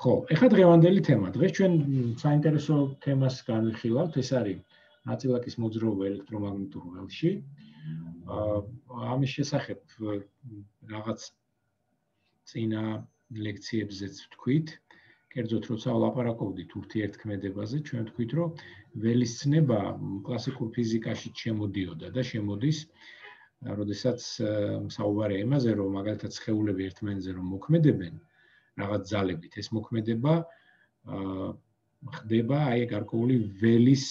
ხო, ეხლა დღევანდელი თემა. დღეს ჩვენ საინტერესო თემას განვიხილავთ, ეს არის ნაწილაკის მოძრაობა ელექტრომაგნიტურ ველში. ამის შესახებ რაღაც წინა ლექციებზეც ვთქვით. კერძოდ, როცა ვლაპარაკობდით ურთიერთქმედებაზე, ჩვენ ვთქვით, რომ ველის ცნება კლასიკურ ფიზიკაში შემოდიოდა და შემოდის, როდესაც საუბარია იმაზე, რომ მაგალითად სხეულები ერთმანეთზე რომ მოქმედებენ, რაღაც ძალებით, ეს მოქმედება ხდება აი გარკვეული ველის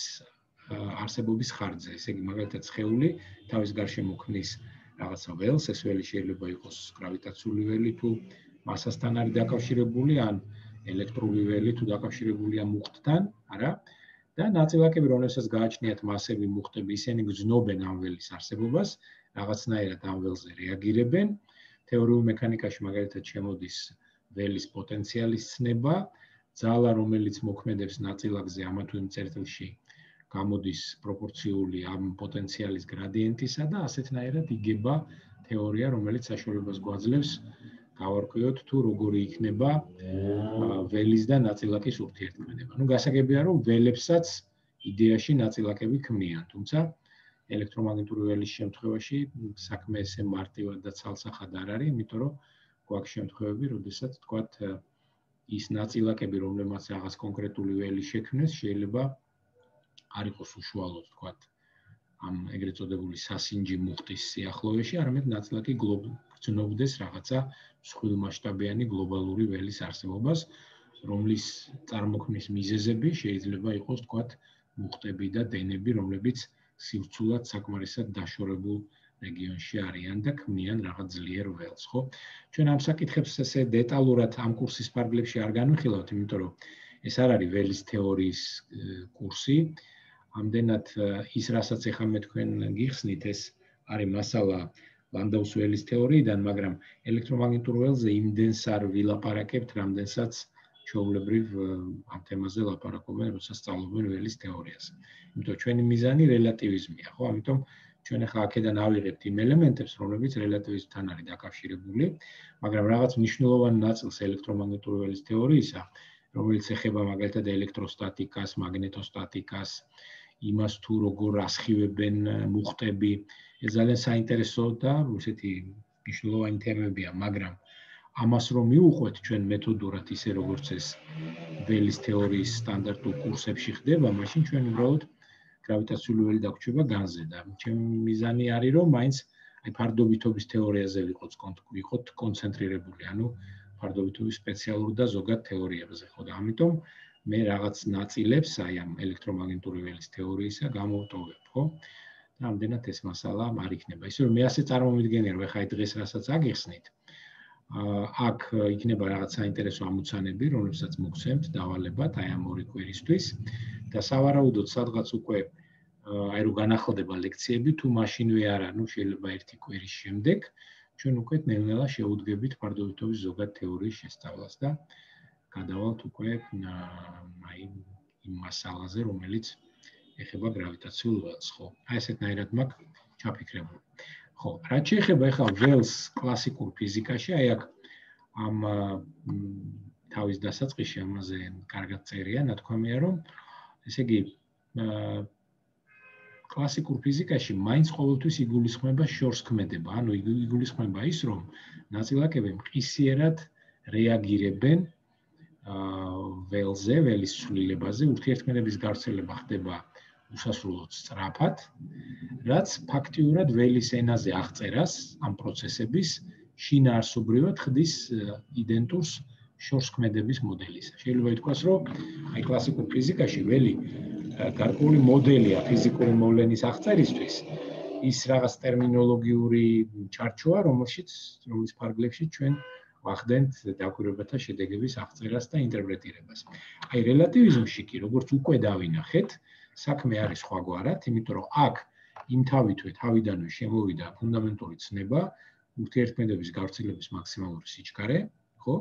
არსებობის ხარჯზე. ესე იგი, მაგალითად სხეული თავის გარშემო ქმნის რაღაცა ველს, ეს ველი შეიძლება იყოს გრავიტაციული ველი თუ მასასთან არის დაკავშირებული, ან ელექტრული ველი თუ დაკავშირებულია მუხტთან, არა? და ნაწილაკები, რომელსაც გააჩნიათ მასები, მუხტები, ისინი გრძნობენ ამ ველის არსებობას, რაღაცნაირად ამ ველზე რეაგირებენ. თეორიულ მექანიკაში მაგალითად შემოდის ველის პოტენციალის ცნება, ძალა, რომელიც მოქმედებს ნაწილაკზე ამა თუ იმ წერტილში, გამოდის პროპორციული ამ პოტენციალის გრადიენტისა და ასეთნაირად იგება თეორია, რომელიც საშუალებას გვაძლევს გავარკვიოთ თუ როგორი იქნება ველის და ნაწილაკის ურთიერთქმედება. ნუ გასაგებია, რომ ველებსაც იდეაში ნაწილაკები ქმნიან, თუმცა ელექტრომაგნიტური ველის შემთხვევაში საქმე ესე მარტივად და ცალსახად არ არის, იმიტომ რომ გვაქვს შემთხვევები, როდესაც თქვათ ის ნაწილაკები, რომლებმაც რაღაც კონკრეტული ველი შექმნეს, შეიძლება არ იყოს უშუალოდ თქვათ ამ ეგრეთ წოდებული სასინჯი მუხტის სიახლოვეში, არამედ ნაწილაკი გრძნობდეს რაღაცა მსხვილმასშტაბიანი გლობალური ველის არსებობას, რომლის წარმოქმნის მიზეზები შეიძლება იყოს თქვათ მუხტები და დენები, რომლებიც სივრცულად საკმარისად დაშორებულ რეგიონში არიან და ქმნიან რაღაც ძლიერ ველს, ხო? ჩვენ ამ საკითხებს ესე დეტალურად ამ კურსის ფარგლებში არ განვიხილავთ, იმიტომ რომ ეს არ არის ველის თეორიის კურსი. ამდენად ის, რასაც ახლა მე თქვენ გიხსნით, ეს არის მასალა ლანდაუს ველის თეორიიდან, მაგრამ ელექტრომაგნიტურ ველზე იმდენს არ ვილაპარაკებთ, რამდენსაც ჩვეულებრივ ამ თემაზე ლაპარაკობენ, როცა სწავლობენ ველის თეორიას. იმიტომ ჩვენი მიზანი რელატივიზმია, ხო? ამიტომ ჩვენ ახლა აქედან ავიღებთ იმ ელემენტებს, რომლებიც რელატივიზმთან არის დაკავშირებული, მაგრამ რაღაც მნიშვნელოვანი ნაწილს ელექტრომაგნიტური ველის თეორიისა, რომელიც ეხება მაგალითად ელექტროსტატიკას, მაგნეტოსტატიკას, იმას თუ როგორ ასხივებენ მუხტები, ეს ძალიან საინტერესო და ისეთი მნიშვნელოვანი თემებია, მაგრამ ამას რომ მივუყვეთ ჩვენ მეთოდურად ისე როგორც ეს ველის თეორიის სტანდარტულ კურსებში ხდება, მაშინ ჩვენ უბრალოდ გრავიტაციული ველი დაგვჭირდება განზე და ჩემი მიზანი არის რომ მაინც აი ფარდობითობის თეორიაზე ვიყოთ კონცენტრირებული, ანუ ფარდობითობის სპეციალურ და ზოგად თეორიებზე, ხო და ამიტომ მე რაღაც ნაწილებს აი ამ ელექტრომაგნიტური ველის თეორიისა გამოვტოვებ, ხო? და ამდენად ეს მასალა არ იქნება. ისე რომ მე ასე წარმომიდგენია, რომ ახლა დღეს რასაც აგიხსნით, აქ იქნება რაღაც საინტერესო ამოცანები, რომლებსაც მოგცემთ დავალებად აი ამ ორი კვირისთვის და სავარაუდოდ სადღაც უკვე აი რომ განახლდება ლექციები, თუ მაშინვე არა, ნუ შეიძლება ერთი კვირის შემდეგ ჩვენ უკვე ნელ-ნელა შევუდგებით ფარდობითობის ზოგად თეორიის შესწავლას და გადავალთ უკვე აი იმ მასალაზე, რომელიც ეხება გრავიტაციულ ველს, ხო? აი ესეთნაირად მაქვს ჩაფიქრებული. ხო, რაც შეეხება ახლა ველს კლასიკურ ფიზიკაში, აი აქ ამ თავის დასაწყისში ამაზე კარგად წერია, ნათქვამია, რომ ესე იგი კლასიკურ ფიზიკაში მაინც ყოველთვის იგულისხმება შორსქმედება, ანუ იგულისხმება ის, რომ ნაწილაკები მყისიერად რეაგირებენ ველზე, ველის ცვლილებაზე, ურთიერთქმედების გავრცელება ხდება უსასრულოდ სწრაფად, რაც ფაქტიურად ველის ენაზე აღწერას ამ პროცესების შინაარსობრივად ხდის იდენტურს შორსქმედების მოდელის. შეიძლება ითქვას, რომ აი კლასიკურ ფიზიკაში ველი გარკვეული მოდელია ფიზიკური მოვლენის აღწერისთვის, ის რაღაც ტერმინოლოგიური ჩარჩოა, რომლის ფარგლებში ჩვენ ვახდენთ დაკვირვებათა შედეგების აღწერას და ინტერპრეტირებას. აი რელატივიზმში კი, როგორც უკვე დავინახეთ, საქმე არის სხვაგვარად, იმიტომ რომ აქ იმ თავიდანვე შემოვიდა ფუნდამენტური ცნება, ურთიერთქმედების გავრცელების მაქსიმალური სიჩქარე, ხო?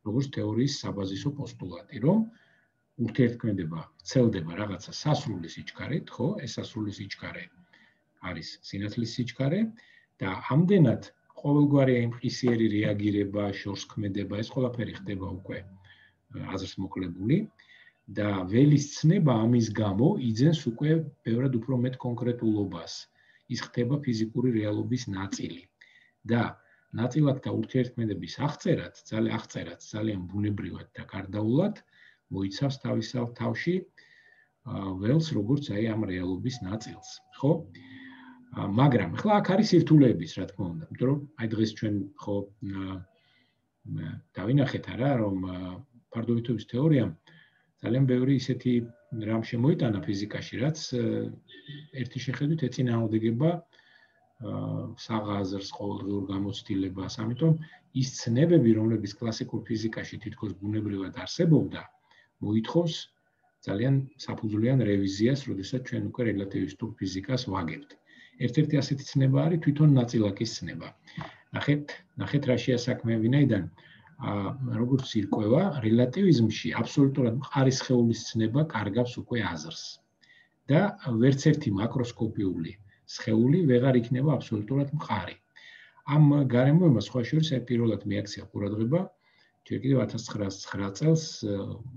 როგორც თეორიის საბაზისო პოსტულატი, რომ ურთიერთქმედება ვრცელდება რაღაცა სასრული სიჩქარით, ხო? ეს სასრული სიჩქარე არის სინათლის სიჩქარე და ამდენად ყოველგვარი მყისიერი რეაგირება, შორსქმედება, ეს ყველაფერი ხდება უკვე აზრს მოკლებული და ველის ცნება ამის გამო იძენს უკვე ბევრად უფრო მეტ კონკრეტულობას. ის ხდება ფიზიკური რეალობის ნაწილი და ნაწილაკთა ურთიერთქმედების აღწერაც ძალიან ბუნებრივად და გარდაულად მოიცავს თავში ველს როგორც აი ამ რეალობის ნაწილს, ხო? მაგრამ ახლა აქ არის სირთულეების, რა თქმა უნდა, იმიტომ რომ აი დღეს ჩვენ ხო დავინახეთ არა, რომ ფარდობითობის თეორიამ ძალიან ბევრი ისეთი რამ შემოიტანა ფიზიკაში, რაც ერთი შეხედვით ეწინააღმდეგება საღაზრს, ყოველდღიურ გამოცდილებას, ამიტომ ის ცნებები, რომლებიც კლასიკურ ფიზიკაში თითქოს ბუნებრივად არსებობდა, მოითხოვს ძალიან საფუძვლიან რევიზიას, როდესაც ჩვენ უკვე რელატივისტურ ფიზიკას ვაგებთ. ერთ-ერთი ასეთი ცნება არის თვითონ ნაწილაკის ცნება. ნახეთ რა შეასაქმე ვინაიდან როგორც ირკვევა, რელატივიზმში აბსოლუტურად მყარი სხეულის ცნება კარგავს უკვე აზრს. და ვერც ერთი მაკროსკოპიული სხეული ვეღარ იქნება აბსოლუტურად მყარი. ამ გარემოებას სხვა შორის პირველად მიაქცია ყურადღება ჯერ კიდევ 1909 წელს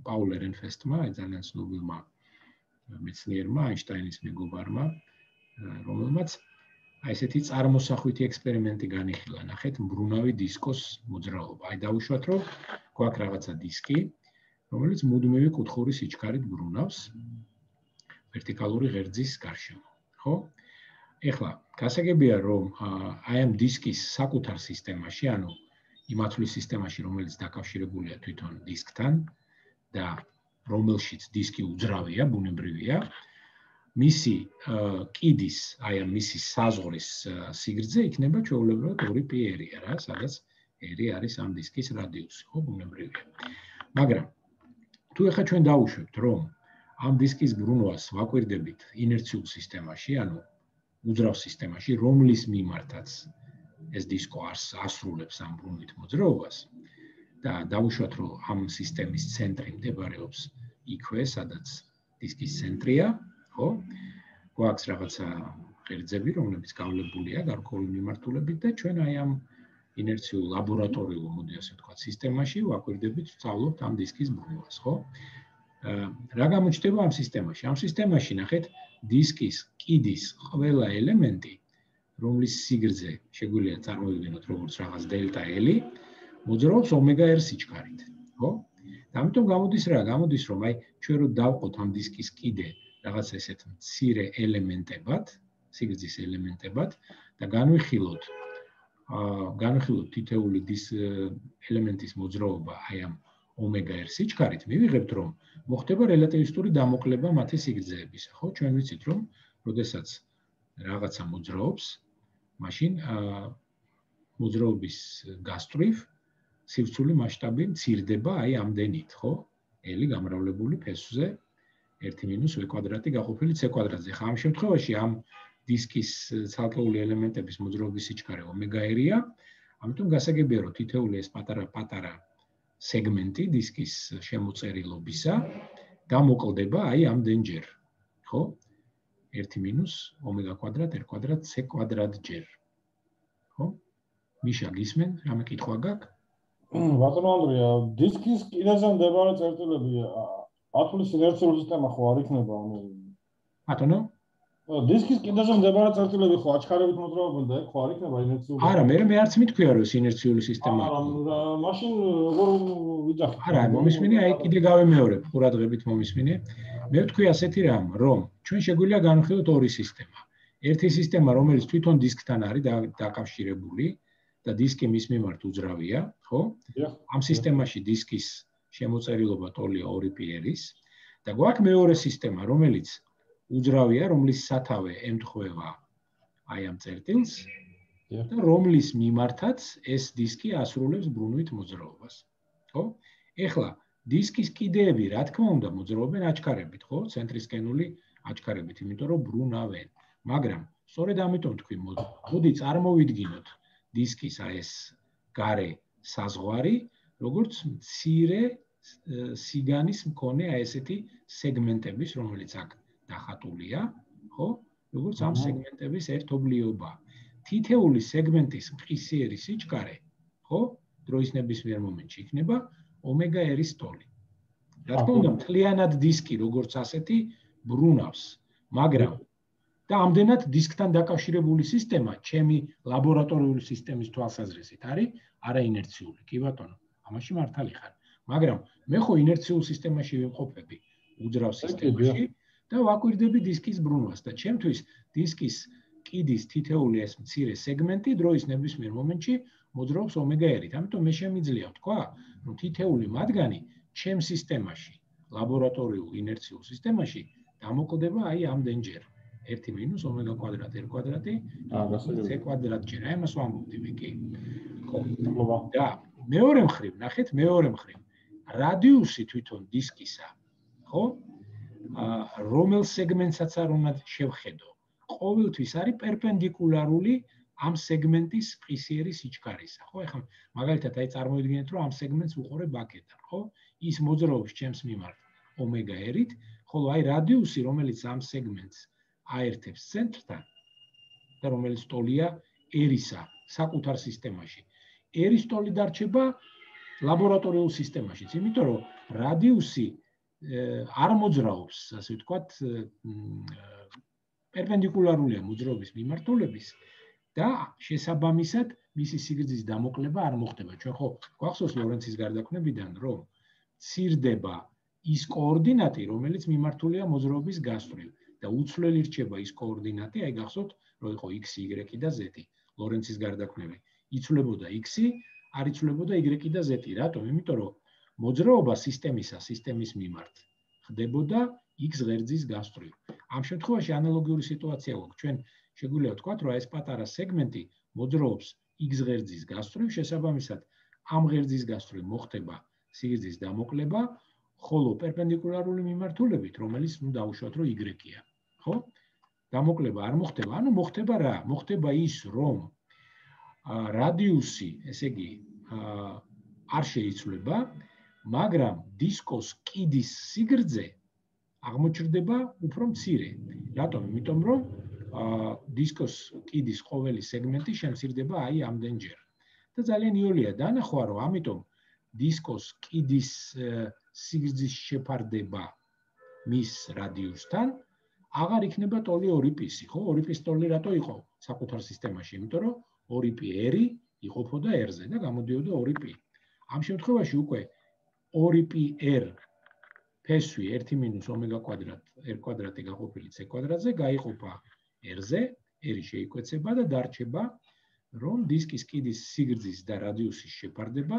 პაულ ერენფესტმა, ძალიან ცნობილმა მეცნიერმა, აინშტაინის მეგობარმა, რომელმაც ესეთი წარმოსახვითი ექსპერიმენტი განიხილა. ნახეთ, მბრუნავი დისკოს მოძრაობა. აი დავუშვათ, რომ გვაქვს რაღაცა დისკი, რომელიც მუდმივი კუთხური სიჩქარით ბრუნავს ვერტიკალური ღერძის გარშემო, ხო? ეხლა, გასაგებია, რომ აი ამ დისკის საკუთარ სისტემაში, ანუ იმ ათვლის სისტემაში, რომელიც დაკავშირებულია თვითონ დისკთან და რომელშიც დისკი უძრავია, ბუნებრივია, მისი კიდის, აი ამ მისი საზღვრის სიგრძე იქნება ჩვეულებრივად 2πr-ია რა, სადაც r არის ამ დისკის რადიუსი, ხო, ბუნებრივია. მაგრამ თუ ახლა ჩვენ დავუშვებთ, რომ ამ დისკის ბრუნვას ვაკვირდებით ინერციულ სისტემაში, ანუ უძრავ სისტემაში, რომლის მიმართაც ეს დისკო ასრულებს ამ ბრუნვით მოძრაობას და დავუშვათ, რომ ამ სისტემის ცენტრი მდებარეობს იქვე, სადაც დისკის ცენტრია, ხო? გვაქვს რაღაცა ღერძები, რომლებიც გავლებულია გარკვეული მიმართულებით და ჩვენ აი ამ ინერციულ ლაბორატორიულ, მოდი ასე ვთქვათ, სისტემაში ვაკვირდებით, ვსწავლობთ ამ დისკის ბრუნვას, ხო? რა გამოჩნდება ამ სისტემაში? ამ სისტემაში ნახეთ, დისკის კიდის ყველა ელემენტი, რომლის სიგრძე შეგვიძლია წარმოვიდგინოთ როგორც რაღაც დელტა L, მოძრაობს ω-r სიჩქარით, ხო? და ამიტომ გამოდის რა? გამოდის, რომ აი ჩვენ რო დავყოთ ამ დისკის კიდე რაღაც ესეთ მცირე ელემენტებად, სიგრძის ელემენტებად და განვიხილოთ თითეული ელემენტის მოძრაობა აი ამ ω-r სიჩქარით, მივიღებთ, რომ მოხდება რელატივისტური დამოკლება მათი სიგრძეებისა, ხო? ჩვენ ვიცით, რომ როდესაც რაღაცა მოძრაობს, მაშინ მოძრაობის გასწვრივ სივრცული მასშტაბი მცირდება აი ამდენით, ხო? L გამრავლებული ფესვზე 1 - v² გაყოფილი c²-ზე. ხა ამ შემთხვევაში ამ დისკის ცალკეული ელემენტების მოძრაობის სიჩქარე ω-r-ია, ამიტომ გასაგებია, რომ თითეული ეს პატარა სეგმენტი დისკის შემოწერილობისა გამოკლდება აი ამდენჯერ, ხო? 1 - ω² c² ჯერ. ხო? მიშა გისმენ, რამე კითხვა გაქვს? ბატონო ანდრია, დისკის კიდეზე მდებარე წერტილები ათვლის ინერციული სისტემა ხო არ იქნება, ანუ ბატონო? დისკის კიდეზე მდებარე წერტილები ხო აჩქარებით მოძრაობენ და ხო არ იქნება ინერციული? არა, მე არც მითქვია, რომ ინერციული სისტემაა. არა, მაშინ როგორ ვიძახით? არა, მომისმინე, აი კიდე გავემეორებ, ყურადღებით მომისმინე. მე ვთქვი ასეთი რამ, რომ ჩვენ შეგვიძლია განვიხილოთ ორი სისტემა. ერთი სისტემა, რომელიც თვითონ დისკთან არის დაკავშირებული და დისკი მის მიმართ უძრავია, ხო? ამ სისტემაში დისკის შემოწერილობა ტოლია 2πr-ის და გვაქვს მეორე სისტემა, რომელიც უძრავია, რომლის სათავე ემთხვევა აი ამ წერტილს და რომლის მიმართაც ეს დისკი ასრულებს ბრუნვით მოძრაობას, ხო? ეხლა დისკის კიდეები, რა თქმა უნდა, მოძრაობენ აჩქარებით, ხო? ცენტრისკენული აჩქარებით, იმიტომ რომ ბრუნავენ. მაგრამ სწორედ ამიტომ თქვი, მოდი წარმოვიდგინოთ დისკის აი ეს გარე საზღვარი, როგორც მცირე სიგანის მქონე აი ესეთი სეგმენტების, რომელიც აქ დახატულია, ხო? როგორც ამ სეგმენტების ერთობლიობა. თითეული სეგმენტის მყისიერი სიჩქარე, ხო? დროის ნებისმიერ მომენტში იქნება ω-r-ის ტოლი. რა თქმა უნდა, მთლიანად დისკი როგორც ასეთი ბრუნავს, მაგრამ და ამდენად დისკთან დაკავშირებული სისტემა, ჩემი ლაბორატორიული სისტემის თვალსაზრისით არის არაინერციული. კი ბატონო, ამაში მართალი ხარ. მაგრამ მე ხო ინერციულ სისტემაში ვიმყოფები, უძრავ სისტემაში და ვაკვირდები დისკის ბრუნვას და ჩემთვის დისკის კიდის თითეული ეს მცირე სეგმენტი დროის ნებისმიერ მომენტში მოძრაობს ომეგა-1-ით. ამიტომ მე შემიძლია ვთქვა, რომ თითეული მათგანი ჩემ სისტემაში, ლაბორატორიულ ინერციულ სისტემაში დამოკლდება აი ამდენჯერ. 1 - ომეგა კვადრატ r კვადრატი c კვადრატჯერ. აი ამას ვამბობდი მე კი. ხო. და მეორე მხრივ, ნახეთ, მეორე მხრივ. რადიუსი თვითონ დისკისა, ხო? რომელ სეგმენტსაც არ უნდა შევხედო. ყოველთვის არის პერპენდიკულარული ამ სეგმენტის ფხისიერი სიჩქარისა, ხო? ეხლა მაგალითად აი წარმოვიდგინეთ, რომ ამ სეგმენტს ვუყურებ აქედან, ხო? ის მოძრაობს ჩემს მიმართ ომეგა-1-ით, ხოლო აი რადიუსი, რომელიც ამ სეგმენტს აერთებს ცენტრთან და რომელიც ტოლია R-ისა საკუთარ სისტემაში. R-ის ტოლი დარჩება ლაბორატორიულ სისტემაშიც, იმიტომ რომ რადიუსი არ მოძრაობს, ასე ვთქვათ, პერპენდიკულარულია მოძრაობის მიმართულების და შესაბამისად მისი სიგრძის დამოკლება არ მოხდება. ჩვენ ხო გვახსოვს ლორენცის გარდაქმნებიდან, რომ ცირდება ის კოორდინატი, რომელიც მიმართულია მოძრაობის გასწვრივ და უცვლელი რჩება ის კოორდინატი, აი გახსოვთ, რომ იყო x, y და z. ლორენცის გარდაქმნები იცვლებოდა x-ი, არ იცვლებოდა y და z. რატომ? იმიტომ რომ მოძრაობა სისტემის მიმართ ხდებოდა x ღერძის გასწვრივ. ამ შემთხვევაში ანალოგიური სიტუაცია გვაქვს. ჩვენ შეგვიძლია ვთქვათ, რომ ეს პატარა სეგმენტი მოძრაობს x ღერძის გასწვრივ, შესაბამისად ამ ღერძის გასწვრივ მოხდება სიგრძის დამოკლება, ხოლო პერპენდიკულარული მიმართულებით, რომელიც დავუშვათ, რომ y-ია, ხო? დამოკლება არ მოხდება, ანუ მოხდება რა? მოხდება ის, რომ რადიუსი, ესე იგი, არ შეიცვლება, მაგრამ დისკოს კიდის სიგრძე აღმოჩნდება უფრო მცირე. რატომ? იმიტომ რომ დისკოს კიდის ყოველი სეგმენტი შემცირდება აი ამდენჯერ. და ძალიან იოლია დანახვა, რომ ამიტომ დისკოს კიდის სიგრძის შეფარდება მის რადიუსთან აღარ იქნება ტოლი 2π-ი, ხო? 2π-ის ტოლი რატო იყო საკუთარ სისტემაში? იმიტომ რომ 2πr იყოფოდა r-ზე და გამოდიოდა 2π. ამ შემთხვევაში უკვე 2πr ფესვი 1 - ომეგა კვადრატ r კვადრატი გაყოფილი c კვადრატზე გაიყოფა r-ზე, r შეიკვეცება და დარჩება, რომ დისკის კიდის სიგრძის და რადიუსის შეფარდება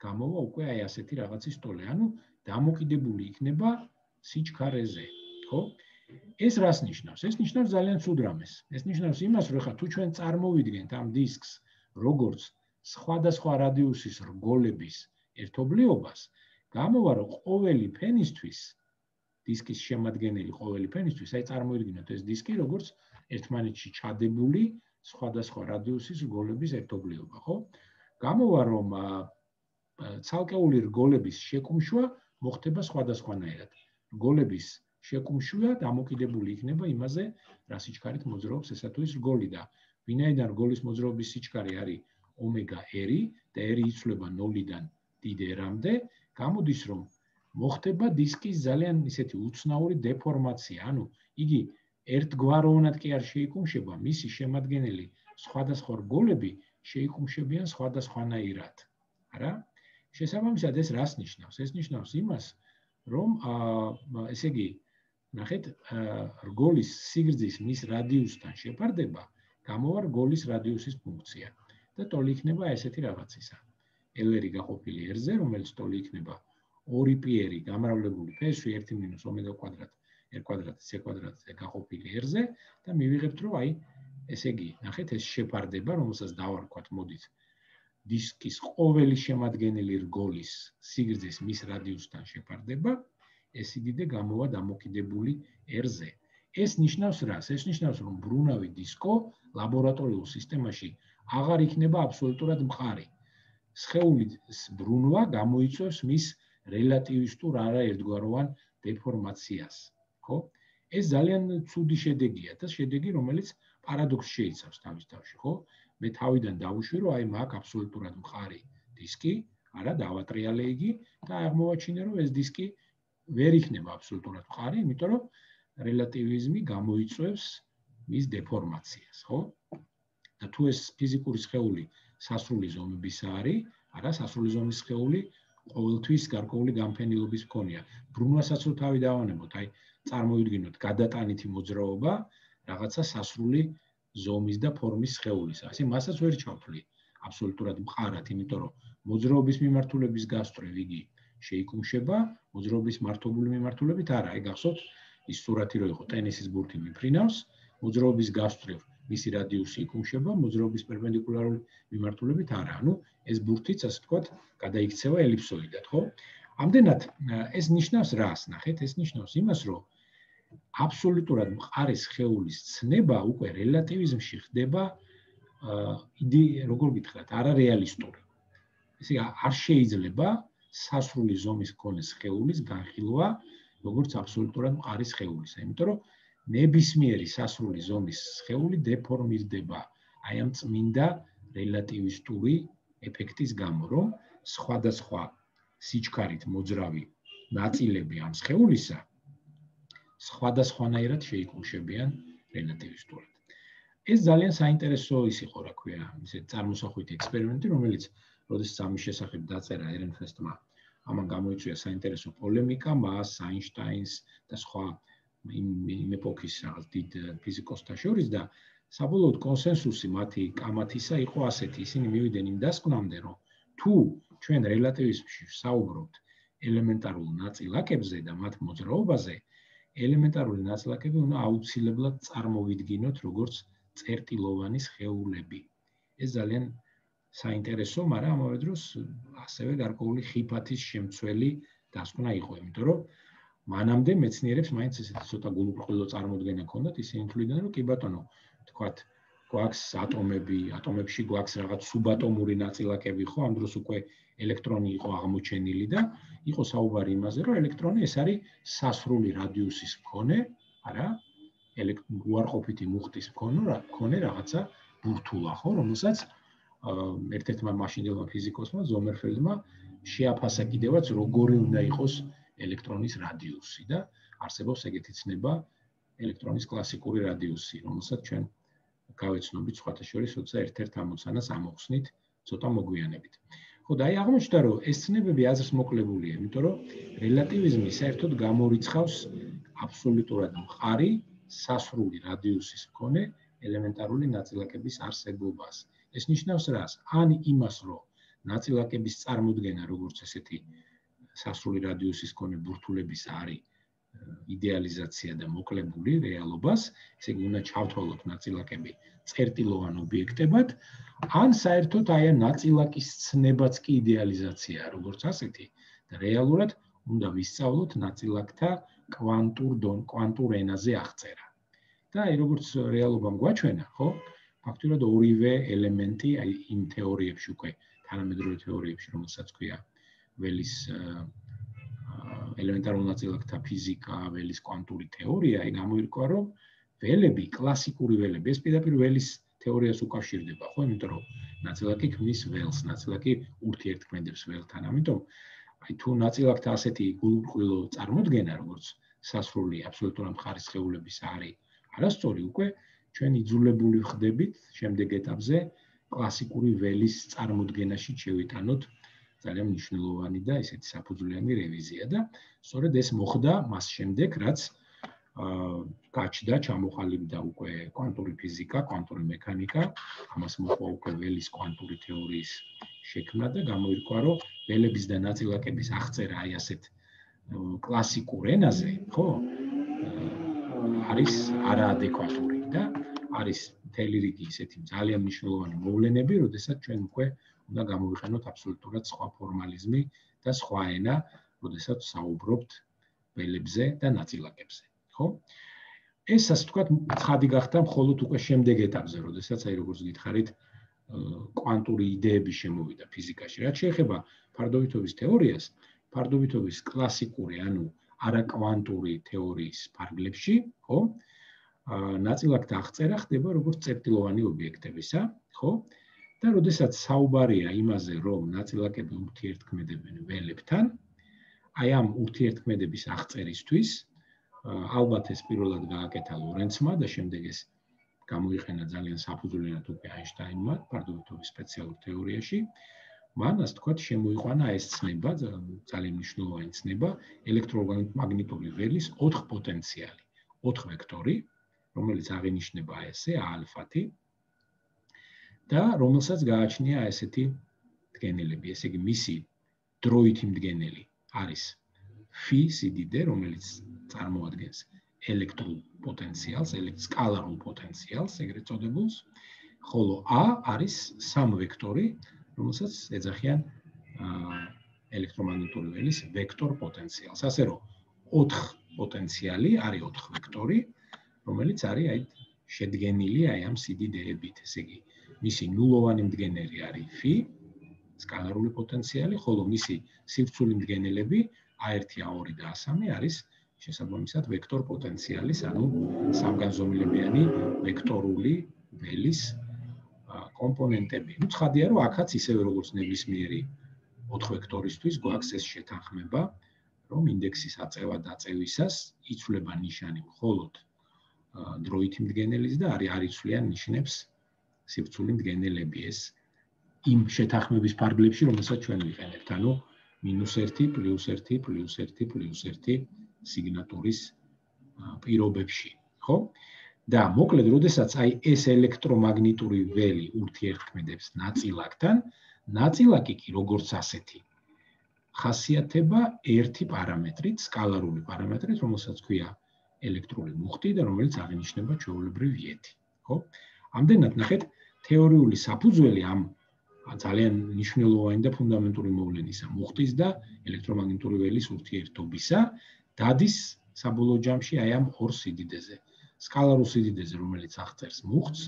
გამოვა უკვე აი ასეთი რაღაცის ტოლი, ანუ დამოკიდებული იქნება სიჩქარეზე, ხო? ეს რას ნიშნავს? ეს ნიშნავს ძალიან ცუდ რამეს. ეს ნიშნავს იმას, რომ ხა თუ ჩვენ წარმოვიდგენთ ამ დისკს როგორც სხვადასხვა რადიუსის რგოლების ერთობლიობას, გამოვა, რომ ყოველი ფენისთვის, დისკის შემადგენელი ყოველი ფენისთვის, აი წარმოვიდგინოთ ეს დისკი როგორც ერთმანეთში ჩადებული სხვადასხვა რადიუსის რგოლების ერთობლიობა, ხო? გამოვა, რომ ცალკეული რგოლების შეკუმშვა მოხდება სხვადასხვანაირად. რგოლების შეკუმშვა დამოკიდებული იქნება იმაზე, რა სიჩქარით მოძრაობს ესა თუ ის რგოლი და ვინაიდან რგოლის მოძრაობის სიჩქარე არის ომეგა-r და r იცვლება 0-დან დიდ r-მდე, გამოდის, რომ მოხდება დისკის ძალიან ისეთი უცნაური დეფორმაცია, ანუ იგი ერთგვაროვნად კი არ შეიკუმშება, მისი შემადგენელი სხვადასხვა რგოლები შეიკუმშებიან სხვადასხვანაირად. არა? შესაბამისად ეს რას ნიშნავს? ეს ნიშნავს იმას, რომ ესე იგი, ნახეთ, რგოლის სიგრძის მის რადიუსთან შეფარდება გამოვა რგოლის რადიუსის ფუნქცია და ტოლი იქნება ესეთი რაღაცისა. L-ი გაყოფილი r-ზე, რომელიც ტოლი იქნება 2πr გამრავლებული ფესვი 1 - ომეგა კვადრატ r კვადრატი c კვადრატზე გაყოფილი r-ზე და მივიღებთ, რომ აი ესე იგი, ნახეთ, ეს შეფარდება, რომელსაც დავარქვათ, მოდით, დისკის ყოველი შემადგენელი რგოლის სიგრძის მის რადიუსთან შეფარდება, ეს იდიდე გამოვა დამოკიდებული r-ზე. ეს ნიშნავს რას? ეს ნიშნავს, რომ ბრუნავი დისკო ლაბორატორიულ სისტემაში აღარ იქნება აბსოლუტურად მყარი. სხეულის ბრუნვა გამოიწვევს მის რელატივისტურ არაერთგვაროვან დეფორმაციას, ხო? ეს ძალიან ცუდი შედეგია და შედეგი, რომელიც პარადოქსს შეიცავს თავის თავში, ხო? მე თავიდან დავუშვი, რომ აი მაგ აბსოლუტურად მყარი დისკი, არა დავატრიალე იგი და აღმოვაჩინე, რომ ეს დისკი ვერ იქნება აბსოლუტურად მყარი, იმიტომ რომ რელატივიზმი გამოიწვევს მის დეფორმაციას, ხო? და თუ ეს ფიზიკური სხეული სასრული ზომების არის, არა სასრული ზომის სხეული ყოველთვის გარკვეული განფენილობის მქონია. ბრუნვასაც რო თავი დავანებოთ, აი წარმოვიდგინოთ გადატანითი მოძრაობა რაღაცა სასრული ზომის და ფორმის სხეულისა. ასე მასაც ვერ ჩავთვლი აბსოლუტურად მყარად, იმიტომ რომ მოძრაობის მიმართულების გასწრებ იგი შეიკუმშება, მოძრაობის მართობული მიმართულებით არა. აი გახსოვთ ის სურათი რო იყო ტენისის ბურთი მიფრინავს, მოძრაობის გასწრებ მისი რადიუსი იკუმშება, მოძრაობის პერპენდიკულარული მიმართულებით არა. ანუ ეს ბურთიც ასე ვთქვათ, გადაიქცევა ელიფსოიდად, ხო? ამდენად ეს ნიშნავს რას? ნახეთ, ეს ნიშნავს იმას, რომ აბსოლუტურად მყარი სხეულის ცნება უკვე რელატივიზმში ხდება როგორ გითხრათ, არარეალისტური. ესე არ შეიძლება სასრული ზომის მქონე სხეულის განხილვა როგორც აბსოლუტურად მყარი სხეულისა, იმიტომ რომ ნებისმიერი სასრული ზომის სხეული დეფორმირდება აი ამ წმინდა რელატივისტური ეფექტის გამო, რომ სხვადასხვა სიჩქარით მოძრავი ნაწილები ამ სხეულისა სხვადასხვანაირად შეიკუმშებიან რელატივისტურად. ეს ძალიან საინტერესო ის იყო, რა ქვია, ისე წარმოსახვითი ექსპერიმენტი, რომელიც როდესაც ამის შესახებ დაწერა ერენფესტმა, ამან გამოიწვია საინტერესო პოლემიკა მას, აინშტაინს და სხვა იმ ეპოქის რაღაც დიდ ფიზიკოსთა შორის და საბოლოოდ კონსენსუსი მათი კამათისა იყო ასეთი, ისინი მივიდნენ იმ დასკვნამდე, რომ თუ ჩვენ რელატივიზმში ვსაუბრობთ ელემენტარულ ნაწილაკებზე და მათ მოძრაობაზე, ელემენტარული ნაწილაკები უნდა აუცილებლად წარმოვიდგინოთ როგორც წერტილოვანი სხეულები. ეს ძალიან საინტერესო, მაგრამ ამავე დროს ასევე გარკვეული ხიფათის შემცველი დასკვნა იყო, იმიტომ რომ მანამდე მეცნიერებს მაინც ესეთი ცოტა გულუბრყვილო წარმოდგენა ჰქონდათ, ისინი თვლიდნენ, რომ კი ბატონო, თქვათ, გვაქვს ატომები, ატომებში გვაქვს რაღაც სუბატომური ნაწილაკები, ხო, ამ დროს უკვე ელექტრონი იყო აღმოჩენილი და იყო საუბარი იმაზე, რომ ელექტრონი ეს არის სასრული რადიუსის მქონე, არა, უარყოფითი მუხტის მქონე რაღაცა ბურთულა, ხო, რომელსაც ერთ-ერთმა მაშინდელმა ფიზიკოსმა ზომერფელდმა შეაფასა კიდევაც როგორი უნდა იყოს ელექტრონის რადიუსი და არსებობს ეგეთი ცნება ელექტრონის კლასიკური რადიუსი, რომელსაც ჩვენ გავეცნობით სხვათა შორის, როცა ერთ-ერთ ამოცანას ამოხსნით ცოტა მოგვიანებით. ხო, და აი აღმოჩნდა, რომ ეს ცნებები აზრს მოკლებულია, იმიტომ რომ რელატივიზმი საერთოდ გამორიცხავს აბსოლუტურად მყარი სასრული რადიუსის მქონე ელემენტარული ნაწილაკების არსებობას. ეს ნიშნავს რას? ან იმას, რომ ნაწილაკების წარმოდგენა როგორც ესეთი სასრული რადიუსის მქონე ბურთულების არის იდეალიზაცია და მოკლებული რეალობას, ესე იგი უნდა ჩავთვალოთ ნაწილაკები წერტილოვან ობიექტებად, ან საერთოდ აი ამ ნაწილაკის ცნებაც კი იდეალიზაციაა, როგორც ასეთი, და რეალურად უნდა ვისწავლოთ ნაწილაკთა კვანტურ ენაზე აღწერა. და აი როგორც რეალობამ გვაჩვენა, ხო? ფაქტურად ორივე ელემენტი აი იმ თეორიებში უკვე თანამედროვე თეორიებში, რომელსაც ქვია ველის ელემენტარულ ნაწილაკთა ფიზიკა, ველის კვანტური თეორია, აი გამოირკვა, რომ ველები, კლასიკური ველები, ეს პირდაპირ ველის თეორიას უკავშირდება, ხო? იმიტომ რომ ნაწილაკი ქმნის ველს, ნაწილაკი ურთიერთქმედებს ველთან. ამიტომ აი თუ ნაწილაკთა ასეთი გულუბრყვილო წარმოდგენა, როგორც სასრული აბსოლუტურად მყარი სხეულების არის, არასწორი, უკვე ჩვენ იძულებული ვხდებით შემდეგ ეტაპზე კლასიკური ველის წარმოდგენაში შევიტანოთ ძალიან მნიშვნელოვანი და ესეთი საფუძვლიანი რევიზია და სწორედ ეს მოხდა მას შემდეგ, რაც გაჩნდა, ჩამოყალიბდა უკვე კვანტური ფიზიკა, კვანტური მექანიკა, ამას მოყვა უკვე ველის კვანტური თეორიის შექმნა და გამოირკვა, რომ ველების და ნაწილაკების აღწერა აი ასეთ კლასიკურ ენაზე, ხო, არის არაადეკვატური და არის მთელი რიგი ისეთი ძალიან მნიშვნელოვანი მოვლენები, როდესაც ჩვენ უკვე უნდა გამოვიყენოთ აბსოლუტურად სხვა ფორმალიზმი და სხვა ენა, როდესაც საუბრობთ ველებზე და ნაწილაკებზე, ხო? ეს ასე ვთქვათ, ცხადი გახდა მხოლოდ უკვე შემდეგ ეტაპზე, როდესაც აი როგორც გითხარით, კვანტური იდეები შემოვიდა ფიზიკაში. რაც შეეხება ფარდობითობის თეორიას, ფარდობითობის კლასიკური, ანუ არაკვანტური თეორიის ფარგლებში, ხო? ნაწილაკთა აღწერა ხდება როგორც წერტილოვანი ობიექტებისა, ხო? და როდესაც საუბარია იმაზე, რომ ნაწილაკები ურთიერთქმედებენ ველებთან, აი ამ ურთიერთქმედების აღწერისთვის ალბათ ეს პირველად გააკეთა ლორენცმა და შემდეგ ეს გამოიყენა ძალიან საფუძვლიანად უკვე აინშტაინმა ფარდობითობის სპეციალურ თეორიაში. მან ასე თქვათ შემოიყვანა ეს ცნება, ძალიან მნიშვნელოვანი ცნება, ელექტრომაგნიტური ველის 4 პოტენციალი, 4 ვექტორი, რომელიც აღინიშნება ესე α-ი და რომელსაც გააჩნია ესეთი მდგენელები, ესე იგი მისი დროითი მდგენელი არის φ სიდიდე, რომელიც წარმოადგენს ელექტრულ პოტენციალს, სკალარულ პოტენციალს, ეგრეთ წოდებულს, ხოლო a არის სამ ვექტორი, რომელსაც ეძახიან ელექტრომაგნიტური ველის ვექტორ პოტენციალს. ასე რომ 4 პოტენციალი არის 4 ვექტორი, რომელიც არის აი შედგენილი აი ამ სიდიდეებით, ესე იგი მისი ნულოვანი მდგენელი არის φ, სკალარული პოტენციალი, ხოლო მისი სივრცული მდგენელები a1, a2 და a3 არის შესაბამისად ვექტორ პოტენციალის, ანუ სამგანზომილებიანი ვექტორული ველის კომპონენტები. ნუ ცხადია, რომ აქაც ისევე როგორც ნებისმიერი 4 ვექტორისთვის გვაქვს ეს შეთანხმება, რომ ინდექსის აწევა-დაწევისას იცვლება ნიშანი მხოლოდ დროითი მდგენელის და არ იცვლიან ნიშნებს სივრცული მდგენელები. ეს იმ შეთანხმების ფარგლებში, რომელსაც ჩვენ ვიყენებთ, ანუ -1, +1, +1, +1 სიგნატურის პირობებში, ხო? და მოკლედ, როდესაც აი ეს ელექტრომაგნიტური ველი ურთიერთქმედებს ნაწილაკთან, ნაწილაკი კი როგორც ასეთი ხასიათება ერთი პარამეტრით, სკალარული პარამეტრით, რომელსაც ქვია ელექტრული მუხტი და რომელიც აღინიშნება ჩვეულებრივ იეთი, ხო? ამდენად ნახეთ, თეორიული საფუძველი ამ ძალიან მნიშვნელოვანი და ფუნდამენტური მოვლენისა, მუხტის და ელექტრომაგნიტური ველის ურთიერთობისა დადის საბოლოო ჯამში აი ამ ორ სიდიდეზე. სკალარულ სიდიდეზე, რომელიც აღწერს მუხტს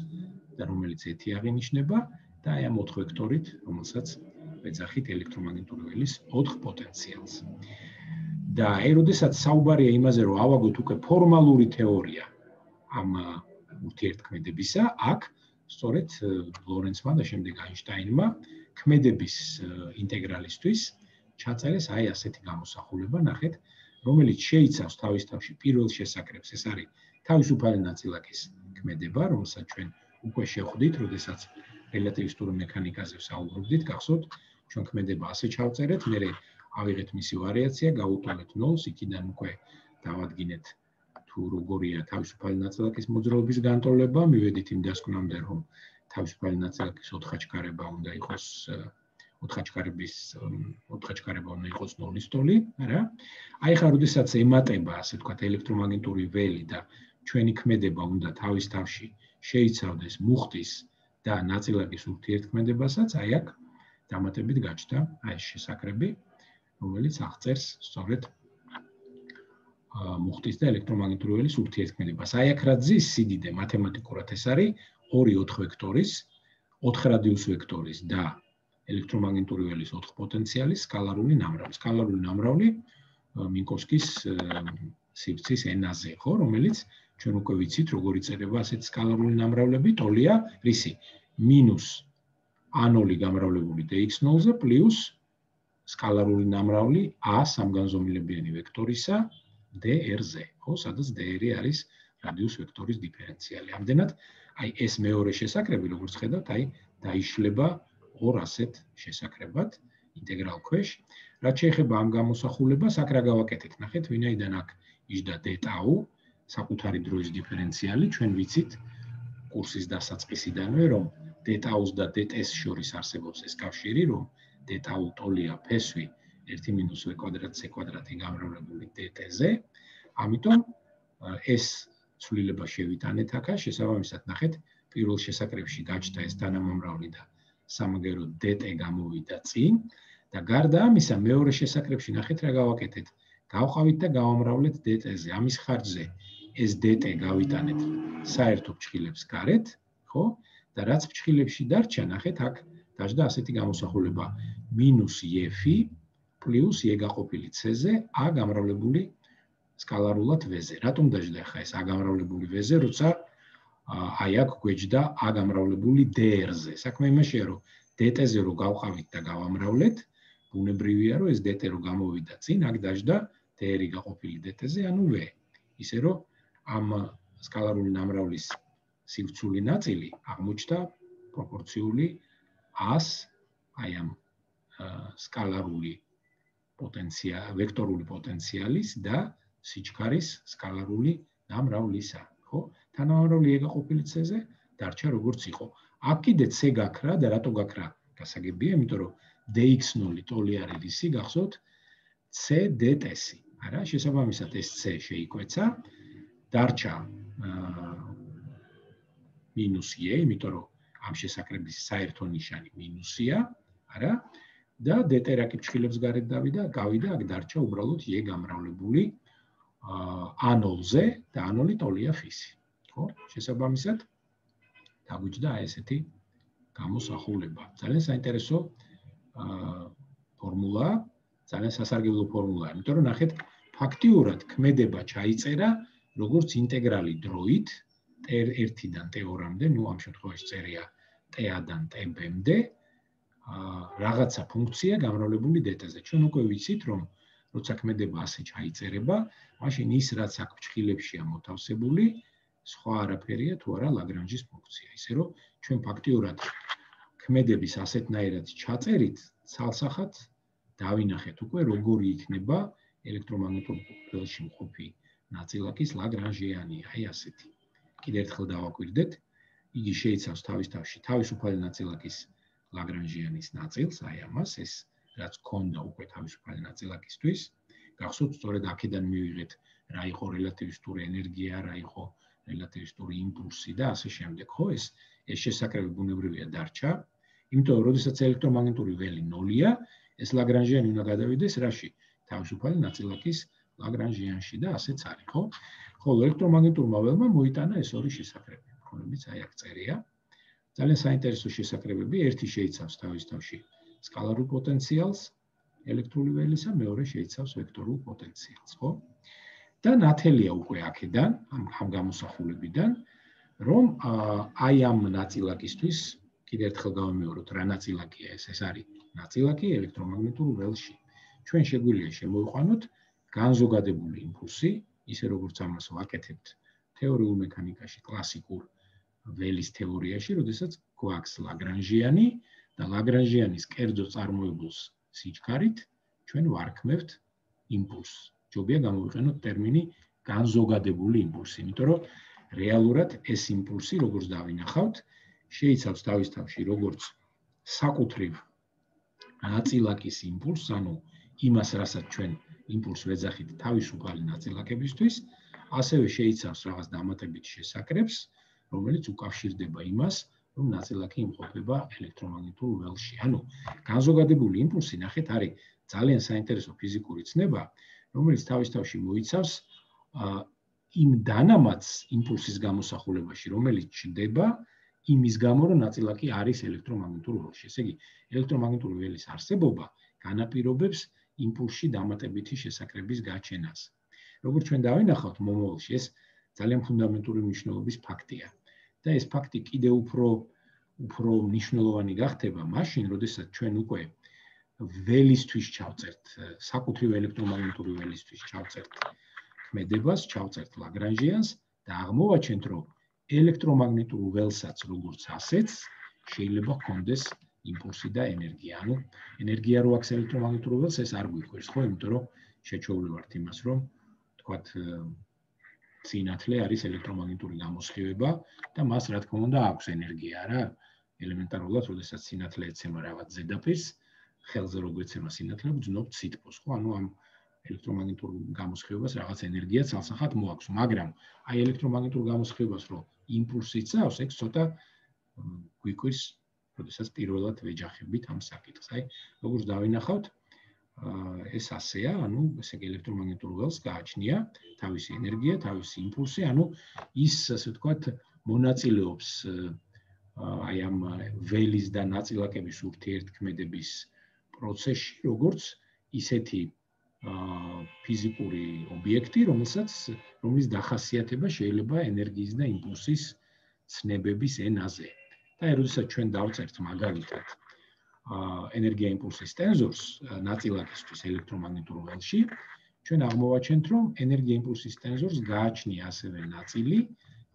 და რომელიც ეთი აღინიშნება და აი ამ 4 ვექტორით, რომელსაც ვეძახით ელექტრომაგნიტური ველის 4 პოტენციალს. და აი როდესაც საუბარია იმაზე, რომ ავაგოთ უკვე ფორმალური თეორია ამ ურთიერთქმედებისა, აქ სწორედ ლორენცმა და შემდეგ აინშტაინმა ქმედების ინტეგრალისთვის ჩაწერეს აი ასეთი გამოსახულება, ნახეთ, რომელიც შეიცავს თავის თავში პირველ შესაკრებს, ეს არის თავისუფალი ნაწილაკის ქმედება, რომელსაც ჩვენ უკვე შევხვდით, როდესაც რელატივისტური მექანიკაზე ვსაუბრობდით, გახსოვთ, ჩვენ ქმედება ასე ჩავწერეთ, მერე ავიღეთ მისი ვარიაცია, გავუტოვეთ 0-ს, იქიდან უკვე დავადგინეთ თუ როგორია თავისუფალი ნაწილაკის მოძრაობის განტოლება, მივედით იმ დასკვნამდე, რომ თავისუფალი ნაწილაკის ოთხაჩქარება უნდა იყოს 0-ის ტოლი, არა? აი ხა, როდესაც ემატება, ასე ვთქვათ, ელექტრომაგნიტური ველი და ჩვენი ქმედება უნდა თავის თავში შეიცავდეს მუხტის და ნაწილაკის ურთიერთქმედებასაც, აი აქ დამატებით გაჩნდა აი ეს შესაკრები, რომელიც აღწერს სწორედ მუხტის და ელექტრომაგნიტური ველის ურთიერთქმედებას. აი აქ რა ძის სიდიდე მათემატიკურად ეს არის 2-4 ვექტორის, 4 რადიუს ვექტორის და ელექტრომაგნიტური ველის 4 პოტენციალის სკალარული ნამრავლი. სკალარული ნამრავლი მინკოვსკის სივრცის ენაზე, ხო, რომელიც ჩვენ უკვე ვიცით, როგორ იწერება ასეთი სკალარული ნამრავლები, ტოლია რისი? მინუს a0 გამრავლებული dx0-ზე პლუს სკალარული ნამრავლი a სამგანზომილებიანი ვექტორისა dr-ზე, ხო, სადაც dr არის რადიუს ვექტორის დიფერენციალი. ამდენად, აი ეს მეორე შესაკრები, როგორც ხედავთ, აი დაიშლება ორ ასეთ შესაკრებად ინტეგრალ ქვეშ. რაც შეეხება ამ გამოსახულებას, აქ რა გავაკეთეთ? ნახეთ, ვინაიდან აქ იჯდა d-ტაუ, საკუთარი დროის დიფერენციალი, ჩვენ ვიცით კურსის დასაწყისიდანვე, რომ d-ტაუს და d-ტს შორის არსებობს ეს კავშირი, რომ d-ტაუ ტოლია ფესვი 1 - v²c² გამრავლებული dt-ზე. ამიტომ ეს ცვლილება შევიტანეთ აქ, შესაბამისად ნახეთ, პირველ შესაკრებში გაჩნდა ეს თანამამრავლი და სამაგერო dt გამოვიდა წინ და გარდა ამისა, მეორე შესაკრებში ნახეთ რა გავაკეთეთ. გავყავით და გავამრავლეთ dt-ზე. ამის ხარჯზე ეს dt გავიტანეთ საერთო ფრჩხილებს გარეთ, ხო? და რაც ფრჩხილებში დარჩა, ნახეთ, აქ დაждდა ასეთი გამოსახულება -f პლუს e გაყოფილი c-ზე a გამრავლებული სკალარულად v-ზე. რატომ დაждდა ხა ეს a გამრავლებული v-ზე, როცა აი აქ გვეჯდა a გამრავლებული dr-ზე. საქმე იმაშია, რომ dt-ზე რო გავყავით და გავამრავლეთ, ბუნებრივია, რომ ეს dt რო გამოვიდა წინ, აქ დაждდა dr გაყოფილი dt-ზე, ანუ v. ისე რომ ამ სკალარული ნამრავლის სივრცული ნაწილი აღმოჩნდა პროპორციული 100 აი ამ სკალარული ვექტორული პოტენციალის და სიჩქარის სკალარული ნამრავლისა, ხო? თანამამრავლი e გაყოფილი c-ზე დარჩა როგორც იყო. აქ კიდე c გაქრა და რატო გაქრა? გასაგებია, იმიტომ რომ dx0 ტოლი არის რისი, გახსოვთ? c dt-ს. არა, შესაბამისად ეს c შეიკვეცა, დარჩა მინუს e, იმიტომ რომ ამ შესაკრების საერთო ნიშანი მინუსია, არა? და dt რაკი ფრჩხილებს გარეთ გავიდა, აქ დარჩა უბრალოდ e გამრავლებული a0-ზე და a0 ტოლია ფისი. ხო? შესაბამისად დაგვიჯდა ესეთი გამოსახულება. ძალიან საინტერესო ფორმულა, ძალიან სასარგებლო ფორმულაა, იმიტომ რომ ნახეთ, ფაქტიურად ქმედება ჩაიწერა როგორც ინტეგრალი დროით t1-დან t2-მდე, ნუ ამ შემთხვევაში წერია t-დან t-მდე, რაღაცა ფუნქცია გამრავლებული dt-ზე. ჩვენ უკვე ვიცით, რომ როცა ქმედება ასე ჩაიწერება, მაშინ ის რაც აქ ფრჩხილებშია მოთავსებული, სხვა არაფერია თუ არა ლაგრანჟის ფუნქცია. ისე რომ ჩვენ ფაქტიურად ქმედების ასეთნაირად ჩაწერით, ცალსახად დავინახეთ უკვე როგორი იქნება ელექტრომაგნიტურ ველში მყოფი ნაწილაკის ლაგრანჟიანი, აი ასეთი. კიდევ ერთხელ დავაკვირდეთ, იგი შეიცავს თავისთავში თავისუფალი ნაწილაკის ლაგრანჟიანის ნაწილს, აი ამას, ეს რაც ქონდა უკვე თავისუფალი ნაწილაკისთვის. გახსოვთ, სწორედ აქედან მივიღეთ რა იყო რელატივისტური ენერგია, რა იყო რელატივისტური იმპულსი და ასე შემდეგ, ხო? ეს შესაკრები ბუნებრივია დარჩა, იმიტომ რომ როდესაც ელექტრომაგნიტური ველი 0-ია, ეს ლაგრანჟიანი უნდა გადავიდეს რაში? თავისუფალი ნაწილაკის ლაგრანჟიანში და ასეც არის, ხო? ხოლო ელექტრომაგნიტურმა ველმა მოიტანა ეს ორი შესაკრები, რომლებიც აი აქ წერია. ძალიან საინტერესო შესაკრებები, ერთი შეიცავს თავისთავში სკალარულ პოტენციალს ელექტრული ველისა, მეორე შეიცავს ვექტორულ პოტენციალს, ხო? და ნათელია უკვე აქედან, ამ გამოსახულებიდან, რომ აი ამ ნაწილაკისთვის, კიდევ ერთხელ გავიმეოროთ, რა ნაწილაკია ეს? ეს არის ნაწილაკი ელექტრომაგნიტურ ველში. ჩვენ შეგვიძლია შემოვიყვანოთ განზოგადებული იმპულსი, ისე როგორც ამას ვაკეთებთ თეორიულ მექანიკაში, კლასიკურ ველის თეორიაში, როდესაც გვაქვს ლაგრანჟიანი და ლაგრანჟიანის კერძო წარმოებულს სიჩქარით ჩვენ ვარქმევთ იმპულსს. ჯობია გამოვიყენოთ ტერმინი განზოგადებული იმპულსი, იმიტომ რომ რეალურად ეს იმპულსი, როგორც დავინახავთ, შეიცავს თავისთავში როგორც საკუთრივ ნაწილაკის იმპულსს, ანუ იმას, რასაც ჩვენ იმპულსს ვეძახით თავისუფალი ნაწილაკებისთვის, ასევე შეიცავს რაღაც დამატებით შესაკრებს, რომელიც უკავშირდება იმას, რომ ნაწილაკი იმყოფება ელექტრომაგნიტურ ველში. ანუ განზოგადებული იმპულსი, ნახეთ, არის ძალიან საინტერესო ფიზიკური ცნება, რომელიც თავისთავში მოიცავს იმ დანამატს იმპულსის გამოსახულებაში, რომელიც ჩნდება იმის გამო, რომ ნაწილაკი არის ელექტრომაგნიტურ ველში. ესე იგი, ელექტრომაგნიტური ველის არსებობა განაპირობებს იმპულსში დამატებითი შესაკრების გაჩენას. როგორც ჩვენ დავინახავთ მომავალში, ეს ძალიან ფუნდამენტური მნიშვნელობის ფაქტია. და ეს ფაქტი კიდევ უფრო მნიშვნელოვანი გახდება მაშინ, როდესაც ჩვენ უკვე ველისთვის ჩავწერთ, საკუთრივ ელექტრომაგნიტური ველისთვის ჩავწერთ ქმედებას, ჩავწერთ ლაგრანჟიანს და აღმოვაჩენთ, რომ ელექტრომაგნიტურ ველსაც როგორც ასეც შეიძლება ჰქონდეს იმპულსი და ენერგია. ანუ ენერგია რო აქვს ელექტრომაგნიტურ ველს, ეს არ გვიყვარს, ხო? იმიტომ რომ შეჩეული ვართ იმას, რომ თქვათ სინათლე არის ელექტრომაგნიტური გამოსხივება და მას რა თქმა უნდა აქვს ენერგია, რა? ელემენტარულად, როდესაც სინათლე ეცემა რაღაც ზედაპირს, ხელზე რო გვეცემა სინათლე, ვძნობთ სითბოს, ხო? ანუ ამ ელექტრომაგნიტურ გამოსხივებას რაღაც ენერგია ცალსახად მოაქვს, მაგრამ აი ელექტრომაგნიტურ გამოსხივებას რო იმპულსი იწავს, ეგ ცოტა გვიკვირს, როდესაც პირველად ვეჯახებით ამ საკითხს. აი, როგორც დავინახავთ, ეს ასეა, ანუ ესე იგი ელექტრომაგნიტურ ველს გააჩნია თავისი ენერგია, თავისი იმპულსი, ანუ ის ასე ვთქვათ მონაწილეობს აი ამ ველის და ნაწილაკების ურთიერთქმედების პროცესში, როგორც ისეთი ფიზიკური ობიექტი, რომლის დახასიათება შეიძლება ენერგიის და იმპულსის ცნებების ენაზე. და როდესაც ჩვენ დავწერთ მაგალითად ენერგია იმპულსის ტენზორს ნაწილაკისთვის ელექტრომაგნიტურ ველში, ჩვენ აღმოვაჩენთ, რომ ენერგია იმპულსის ტენზორს გააჩნია ასევე ნაწილი,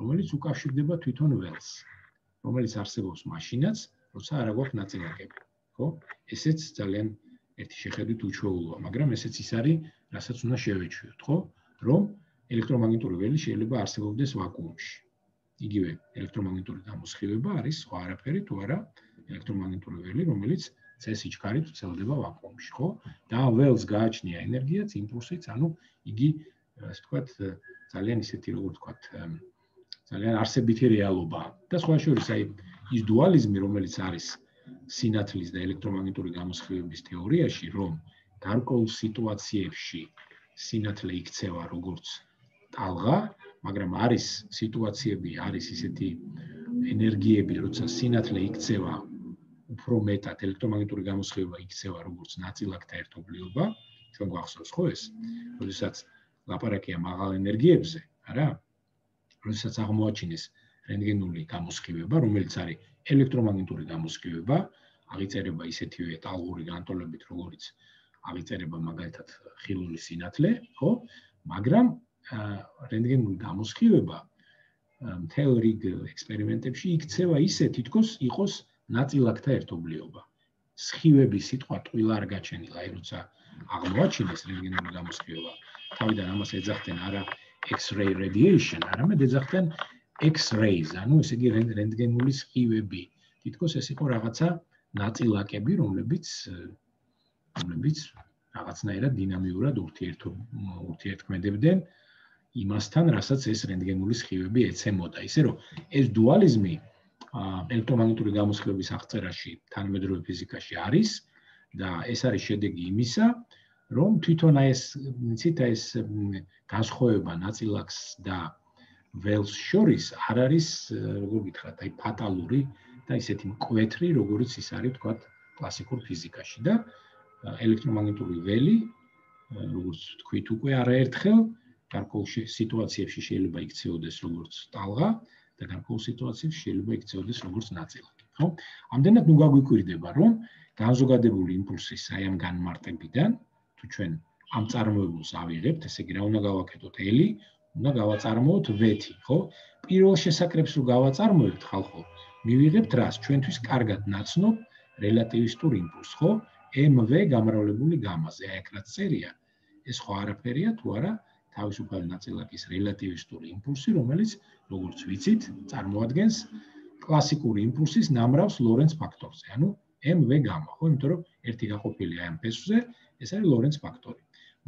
რომელიც უკავშირდება თვითონ ველს, რომელიც არსებობს მაშინაც, როცა არ აქვს ნაწილაკები, ხო? ესეც ძალიან ერთი შეხედვით უჩვეულოა, მაგრამ ესეც ის არის, რასაც უნდა შევეჩვიოთ, ხო? რომ ელექტრომაგნიტური ველი შეიძლება არსებობდეს ვაკუუმში. იგივე ელექტრომაგნიტური გამოსხივება არის სხვა არაფერი, თუ არა ელექტრომაგნიტური ველი, რომელიც C-სიჩქარით ვრცელდება ვაკუუმში, ხო? და ველს გააჩნია ენერგიაც, იმპულსიც, ანუ იგი, ასე ვთქვათ, ძალიან ისეთი, როგორ ვთქვათ, ძალიან არსებითი რეალობაა. და სხვა შორის, აი, ის დუალიზმი, რომელიც არის სინათლის და ელექტრომაგნიტური გამოსხივების თეორიაში, რომ გარკვეულ სიტუაციებში სინათლე იქცევა როგორც ტალღა, მაგრამ არის სიტუაციები, არის ისეთი ენერგიები, როცა სინათლე იქცევა უფრო მეტად, ელექტრომაგნიტური გამოსხივება იქცევა როგორც ნაწილაკთა ერთობლიობა, ჩვენ გვახსოვს ხო ეს? როდესაც ლაპარაკია მაღალ ენერგიებზე, არა? როდესაც აღმოაჩინეს რენტგენული გამოსხივება, რომელიც არის ელექტრომაგნიტური გამოსხივება, აღიწერება ისეთივე ტალღური განტოლებით, როგორც აღიწერება მაგალითად ხილული სინათლე, ხო? მაგრამ რენტგენული გამოსხივება მთელ რიგ ექსპერიმენტებში იქცევა ისე, თითქოს იყოს ნაწილაკთა ერთობლიობა. სხივების სიტყვა ტყუილა არ გაჩენილა, აი როცა აღმოაჩინეს რენტგენული გამოსხივება, თავიდან ამას ეძახდნენ არა X-ray radiation, არამედ ეძახდნენ X-rays, ანუ ესე იგი რენტგენული სხივები. თითქოს ეს იყო რაღაცა ნაწილაკები, რომლებიც რაღაცნაირად დინამიურად ურთიერთქმედებდნენ იმასთან, რასაც ეს რენტგენული სხივები ეცემოდა. ისე რომ ეს დუალიზმი ელექტრომაგნიტური გამოსხივების აღწერაში თანამედროვე ფიზიკაში არის და ეს არის შედეგი იმისა, რომ თვითონ ეს განსხვავება ნაწილაკს და ველს შორის არ არის, როგორ გითხრათ, აი ფატალური და ისეთი მკვეთრი, როგორც ის არის, თქვათ, კლასიკურ ფიზიკაში და ელექტრომაგნიტური ველი, როგორც თქვით უკვე არაერთხელ, გარკვეულ სიტუაციებში შეიძლება იქცეოდეს როგორც ტალღა და გარკვეულ სიტუაციებში შეიძლება იქცეოდეს როგორც ნაწილაკი, ხო? ამდენად ნუ გაგვიკვირდება, რომ განზოგადებული იმპულსის აი ამ განმარტებიდან, თუ ჩვენ ამ წარმოებულს ავიღებთ, ესე იგი რა უნდა გავაკეთოთ ელი, უნდა გავაწარმოოთ ვეთი, ხო? პირველ შესაკრებს რო გავაწარმოებთ ხალხო, მივიღებთ რას? ჩვენთვის კარგად ნაცნობ რელატივისტურ იმპულსს, ხო? MV გამრავლებული გამაზე, აი აქ რაც წერია, ეს ხო არაფერია თუ არა თავისუფალი ნაწილაკის რელატივისტური იმპულსი, რომელიც, როგორც ვიცით, წარმოადგენს კლასიკური იმპულსის ნამრავს ლორენც ფაქტორზე, ანუ MV გამა, ხო? იმიტომ რომ ერთი გაყოფილია ამ ფესვზე, ეს არის ლორენც ფაქტორი.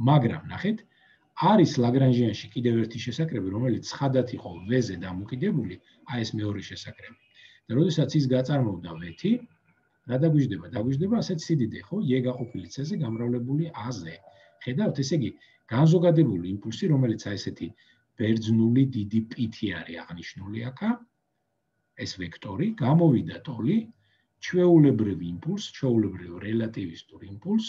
მაგრამ ნახეთ, არის ლაგრანჟიანში კიდევ ერთი შესაკრები, რომელიც ცხადად იყო V-ზე დამოკიდებული, აი ეს მეორე შესაკრები. და როდესაც ის გაწარმოდა ვეთი, რა დაგვიждდება? დაგვიждდება ასეთ სიდიდე, ხო? E გაყოფილი C-ზე გამრავლებული A-ზე. ხედავთ, ესე იგი, განზოგადებული იმპულსი, რომელიც აი ესეთი ბერძნული დიდი პითი არის აღნიშნული აქა, ეს ვექტორი, გამოვიდა ტოლი, ჩვეულებრივი იმპულს, ჩვეულებრივი რელატივისტური იმპულს,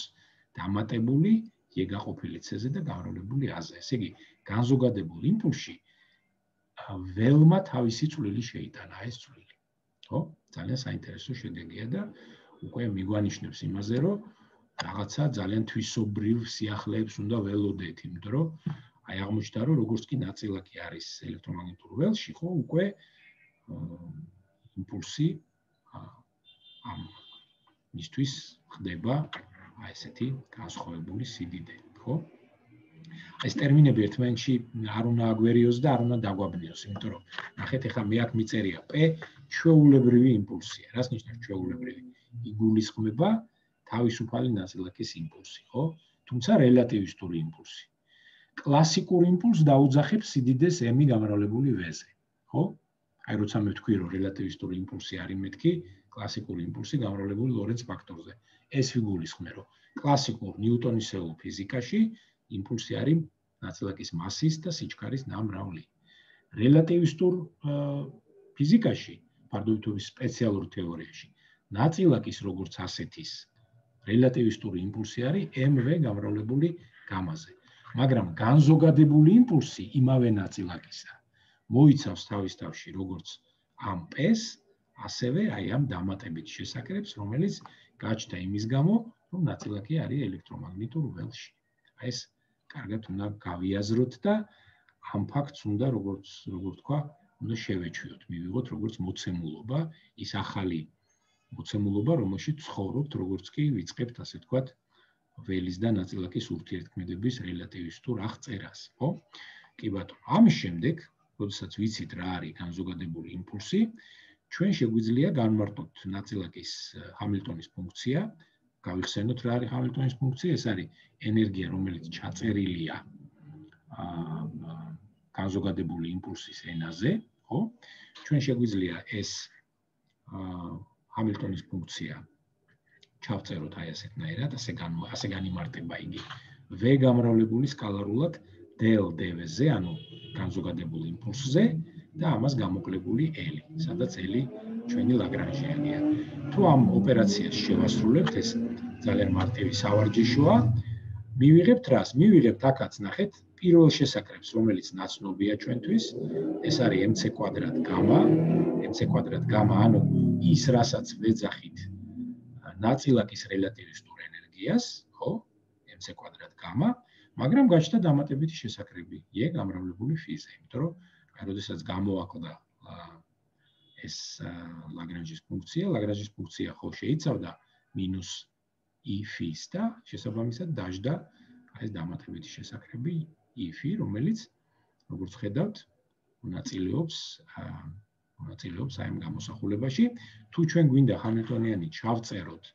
დამატებული E გაყოფილი C-ზე და გამრავლებული A-ზე. ესე იგი, განზოგადებულ იმპულსში ველმა თავისი წვლილი შეიტანა, ეს წვლილი. ხო? ძალიან საინტერესო შედეგია და უკვე მიგვანიშნებს იმაზე, რომ რაღაცა ძალიან თვისობრივ სიახლეებს უნდა ველოდეთ, იმიტომ რომ აი აღმოჩნდა, რომ როგორც კი ნაწილაკი არის ელექტრომაგნიტურ ველში, ხო, უკვე იმპულსი ამ მისთვის ხდება აი ესეთი განსხვავებული სიდიდე, ხო? ეს ტერმინები ერთმანეთში არ უნდა აგვერიოს და არ უნდა დაგვაბნიოს, იმიტომ რომ ნახეთ, ეხლა მე აქ მიწერია P ჩვეულებრივი იმპულსია. რას ნიშნავს ჩვეულებრივი? იგულისხმება თავისუფალი ნაწილაკის იმპულსი, ხო? თუმცა რელატივისტური იმპულსი. კლასიკურ იმპულსს დაუძახებს სიდიდეს M გამრავლებული V-ზე, ხო? აი როცა მე ვთქვი, რომ რელატივისტური იმპულსი არის მეთქი კლასიკური იმპულსი გამრავლებული ლორენც ფაქტორზე. ეს ვიგულისხმე, რომ კლასიკურ ნიუტონისეულ ფიზიკაში იმპულსი არის ნაწილაკის მასის და სიჩქარის ნამრავლი. რელატივისტურ ფიზიკაში, ფარდობითობის სპეციალურ თეორიაში, ნაწილაკის როგორც ასეთის რელატივისტური იმპულსი არის MV გამრავლებული გამაზე. მაგრამ განზოგადებული იმპულსი იმავე ნაწილაკისა მოიცავს თავის თავში როგორც ამ P-ს, ასევე აი ამ დამატებით შესაკრებს, რომელიც გაჩნდა იმის გამო, რომ ნაწილაკი არის ელექტრომაგნიტურ ველში. აი ეს კარგად უნდა გავიაზროთ და ამ ფაქტს უნდა როგორც თქვა, უნდა შევეჩვიოთ, მივიღოთ როგორც მოცემულობა, ის ახალი მოცემულობა, რომელშიც ცხოვრობთ, როგორც კი ვიწყებთ, ასე ვთქვათ, ველის და ნაწილაკის ურთიერთქმედების რელატივისტურ აღწერას, ხო? კი ბატონო, ამის შემდეგ, როდესაც ვიცით რა არის განზოგადებული იმპულსი, ჩვენ შეგვიძლია განვარტოთ ნაწილაკის ჰამილტონის ფუნქცია, გავიხსენოთ რა არის ჰამილტონის ფუნქცია, ეს არის ენერგია, რომელიც ჩაწერილია განზოგადებული იმპულსის ენაზე, ხო? ჩვენ შეგვიძლია ეს ჰამილტონის ფუნქცია ჩავწეროთ აი ასეთნაირად, ასე განიმარტება იგი V გამრავლებული სკალარულად del dv-ზე, ანუ განზოგადებულ იმპულსზე და ამას გამოკლებული L, სადაც L ჩვენი ლაგრანჟიანია. თუ ამ ოპერაციას შევასრულებთ, ეს ძალიან მარტივი სავარჯიშოა, მივიღებთ რას? მივიღებთ აქაც ნახეთ პირველ შესაკრებს, რომელიც ნაცნობია ჩვენთვის, ეს არის mc კვადრატ გამა, ანუ ის, რასაც ვეძახით ნაწილაკის რელატივისტურ ენერგიას, ხო? mc კვადრატ გამა, მაგრამ გაჩნდა დამატებითი შესაკრები, e გამრავლებული φ-ზე, იმიტომ რომ აი როდესაც გამოვაკლდა ეს ლაგრანჟის ფუნქცია ხო შეიცავდა -e-φ-ს და შესაბამისად დაждდა აი ეს დამატებითი შესაკრები e-φ, რომელიც როგორც ხედავთ, მონაწილეობს აი ამ გამოსახულებაში. თუ ჩვენ გვინდა ჰამილტონიანი ჩავწეროთ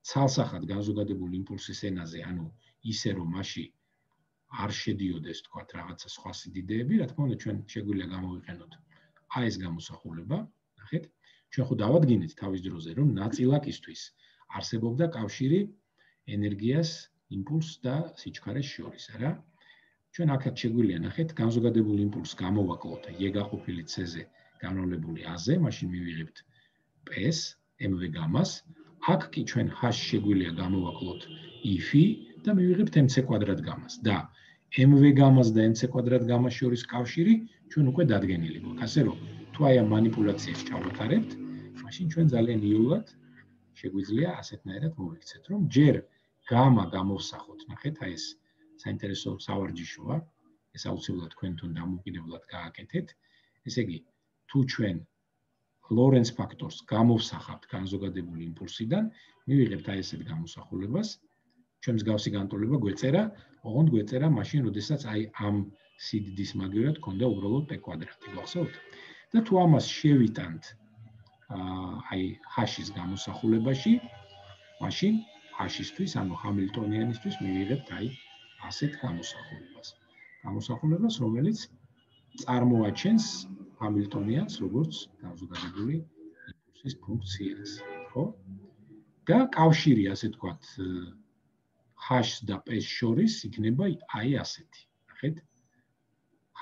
ცალსახად განზოგადებულ იმპულსის ენაზე, ანუ ისე რომ მასში არ შედიოდეს, თქვათ, რაღაცა სხვა სიდიდეები, რა თქმა უნდა, ჩვენ შეგვიძლია გამოვიყენოთ აი ეს გამოსახულება, ნახეთ. ჩვენ ხო დავადგინეთ თავის დროზე, რომ ნაწილაკისთვის არსებობდა კავშირი ენერგიას, იმპულსს და სიჩქარეს შორის, არა? ჩვენ აქაც შეგვიძლია ნახეთ, განზოგადებულ იმპულსს გამოვაკლოთ e გაყოფილი c-ზე გამრავლებული a-ზე, მაშინ მივიღებთ p-ს, mv გამას. აქ კი ჩვენ h შეგვიძლია გამოვაკლოთ e-φ და მივიღებთ mc კვადრატ გამას და mv გამას და mc კვადრატ გამას შორის კავშირი ჩვენ უკვე დადგენილი გვაქვს. ასე რომ, თუ აი ამ манипуляციას ჩავატარებთ, მაშინ ჩვენ ძალიან იოლად შეგვიძლია ასეთნაირად მოვიქცეთ, რომ ჯერ გამა გამოვსახოთ, ნახეთ, აი ეს საინტერესო სავარჯიშოა, ეს აუცილებლად თქვენთან დამოუკიდებლად გააკეთეთ. ესე იგი, თუ ჩვენ ლორენც ფაქტორს გამოვსახავთ განზოგადებული იმპულსიდან, მივიღებთ აი ესეთ გამოსახულებას. ჩვენ მსგავსი განტოლება გვეწერა, ოღონდ გვეწერა მაშინ, როდესაც აი ამ სიდიდის მაგივრად ქონდა უბრალოდ p კვადრატი, გახსოვთ? და თუ ამას შევიტანთ აი h-ის გამოსახულებაში, მაშინ h-ისთვის, ანუ ჰამილტონიანისთვის მივიღებთ აი ასეთ გამოსახულებას, რომელიც წარმოაჩენს ჰამილტონიანს როგორც განზოგადებული იმპულსის ფუნქციას, ხო? და კავშირი, ასე ვთქვათ, h-ს და p-ს შორის იქნება აი ასეთი. ნახეთ.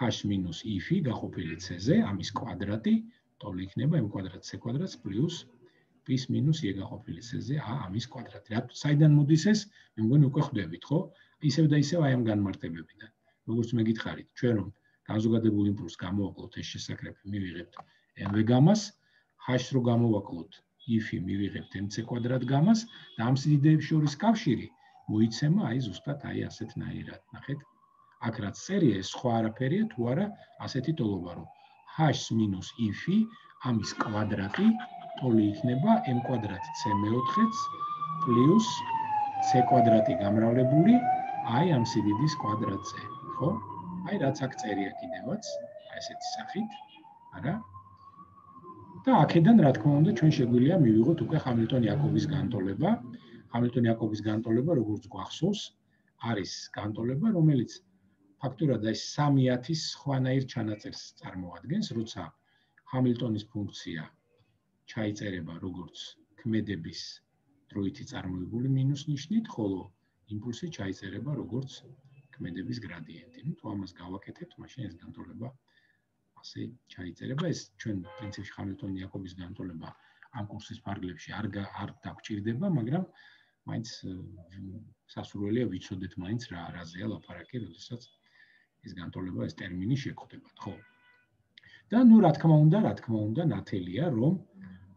h minus e-φ გაყოფილი c-ზე, ამის კვადრატი, ტოლი იქნება m კვადრატ c კვადრატს პლუს p-ს minus e გაყოფილი c-ზე a ამის კვადრატი. საიდან მოდის ეს? მე მგონი უკვე ხვდებით, ხო? ისევ და ისევ აი ამ განმარტებებიდან. როგორც მე გითხარით, ჩვენ რომ განზოგადებულ იმპულსს გამოვაკლოთ ეს შესაკრები, მივიღებთ mv გამას, h-ს რო გამოვაკლოთ e-φ მივიღებთ mc კვადრატ გამას და ამ სიდიდეებს შორის კავშირი მოიცემა აი ზუსტად აი ასეთნაირად, ნახეთ. აქ რაც წერია, ეს სხვა არაფერია, თუ არა ასეთი ტოლობა, რომ h-ს minus e-φ ამის კვადრატი ტოლი იქნება m კვადრატ c4-ს პლუს c კვადრატი გამრავლებული აი ამ სიდიდის კვადრატზე, ხო? აი რაც აქ წერია კიდევაც, აი ესეთი სახით, არა? და აქედან რა თქმა უნდა ჩვენ შეგვიძლია მივიღოთ უკვე ჰამილტონ-იაკობის განტოლება. ჰამილტონ-იაკობის განტოლება, როგორც გვახსოვს, არის განტოლება, რომელიც ფაქტურად აი 3/1000 სხვანაირ ჩანაწერს წარმოადგენს, როცა ჰამილტონის ფუნქცია ჩაიწერება როგორც ქმედების დროითი წარმოებული მინუს ნიშნით, ხოლო იმპულსი ჩაიწერება როგორც ქმედების გრადიენტი. ნუ თუ ამას გავაკეთებთ, მაშინ ეს განტოლება ასე ჩაიწერება. ეს ჩვენ პრინციპში ჰამილტონ-იაკობის განტოლება ამ კურსის ფარგლებში არ დაგჭირდება, მაგრამ მაინც სასურველია ვიცოდეთ მაინც რაზეა ლაპარაკი, როდესაც ეს განტოლება, ეს ტერმინი შეგხვდებათ, ხო? და ნუ რა თქმა უნდა, ნათელია, რომ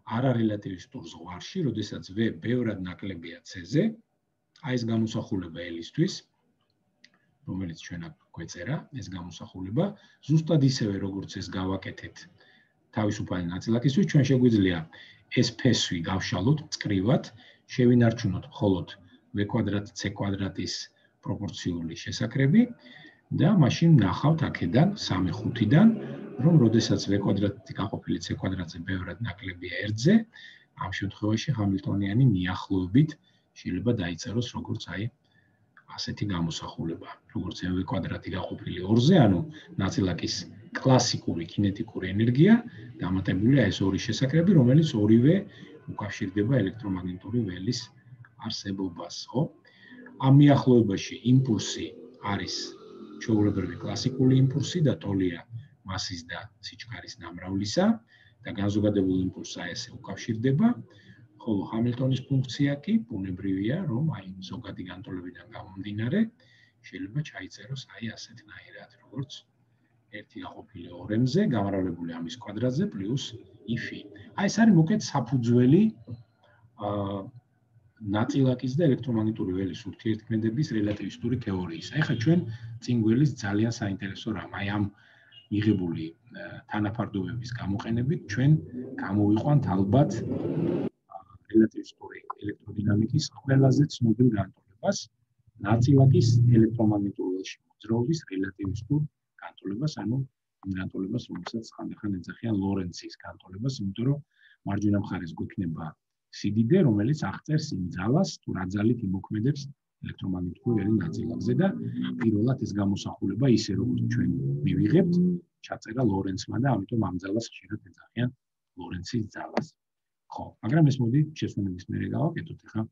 არარელატივისტურ ზღვარში, როდესაც V ბევრად ნაკლებია C-ზე, აი ეს გამოსახულება L-ისთვის, რომელიც ჩვენ აქ გვეწერა, ეს გამოსახულება, ზუსტად ისევე როგორც ეს გავაკეთეთ თავისუფალი ნაწილაკისთვის, ჩვენ შეგვიძლია ეს ფესვი გავშალოთ წკრივად, შევინარჩუნოთ მხოლოდ V²C²-ის პროპორციული შესაკრები და მაშინ ნახავთ აქედან 3/5-დან, რომ როდესაც V² გაყოფილი C²-ზე ბევრად ნაკლებია 1-ზე, ამ შემთხვევაში ჰამილტონიანი მიახლოებით შეიძლება დაიწეროს როგორც აი ასეთი გამოსახულება, როგორც mv² გაყოფილი 2-ზე, ანუ ნაწილაკის კლასიკური კინეტიკური ენერგია დამატებულია ეს ორი შესაკრები, რომელიც ორივე უკავშირდება ელექტრომაგნიტური ველის არსებობას, ხო? ამ მიახლოებაში იმპულსი არის ჩვეულებრივი კლასიკური იმპულსი და ტოლია მასის და სიჩქარის ნამრავლისა და განზოგადებულ იმპულსს ესე უკავშირდება, ხოლო ჰამილტონის ფუნქცია კი ბუნებრივია, რომ აი ზოგადი განტოლებიდან გამომდინარე შეიძლება ჩაიწეროს აი ასეთნაირად, როგორც 1/2m-ზე გამრავლებული ამის კვადრატზე პლუს if. აი ეს არის მოკეთ საფუძველი ნაწილაკის და ელექტრომაგნიტური ველის ურთიერთქმედების რელატივისტური თეორიის. ახლა ჩვენ წინ გველის ძალიან საინტერესო რამ, აი ამ მიღებული თანაფარდობების გამოყენებით ჩვენ გამოვიყვანთ ალბათ რელატივისტური ელექტროდინამიკის ყველაზე ცნობილ განტოლებას, ნაწილაკის ელექტრომაგნიტურ ველში მოძრაობის რელატივისტურ განტოლებას, ანუ იმ განტოლებას, რომელსაც ხანდახან ეძახიან ლორენცის განტოლებას, იმიტომ რომ მარჯვენა მხარეს გვექნება სიდიდე, რომელიც აღწერს იმ ძალას, თუ რა ძალით იმოქმედებს ელექტრომაგნიტური ველი ნაწილაკზე და პირველად ეს გამოსახულება ისე როგორც ჩვენ მივიღებთ, ჩაწერა ლორენცმა და ამიტომ ამ ძალას ხშირად ეძახიან ლორენცის ძალას. ხო, მაგრამ ეს მოდი შესვენების მერე გავაკეთოთ, ახლა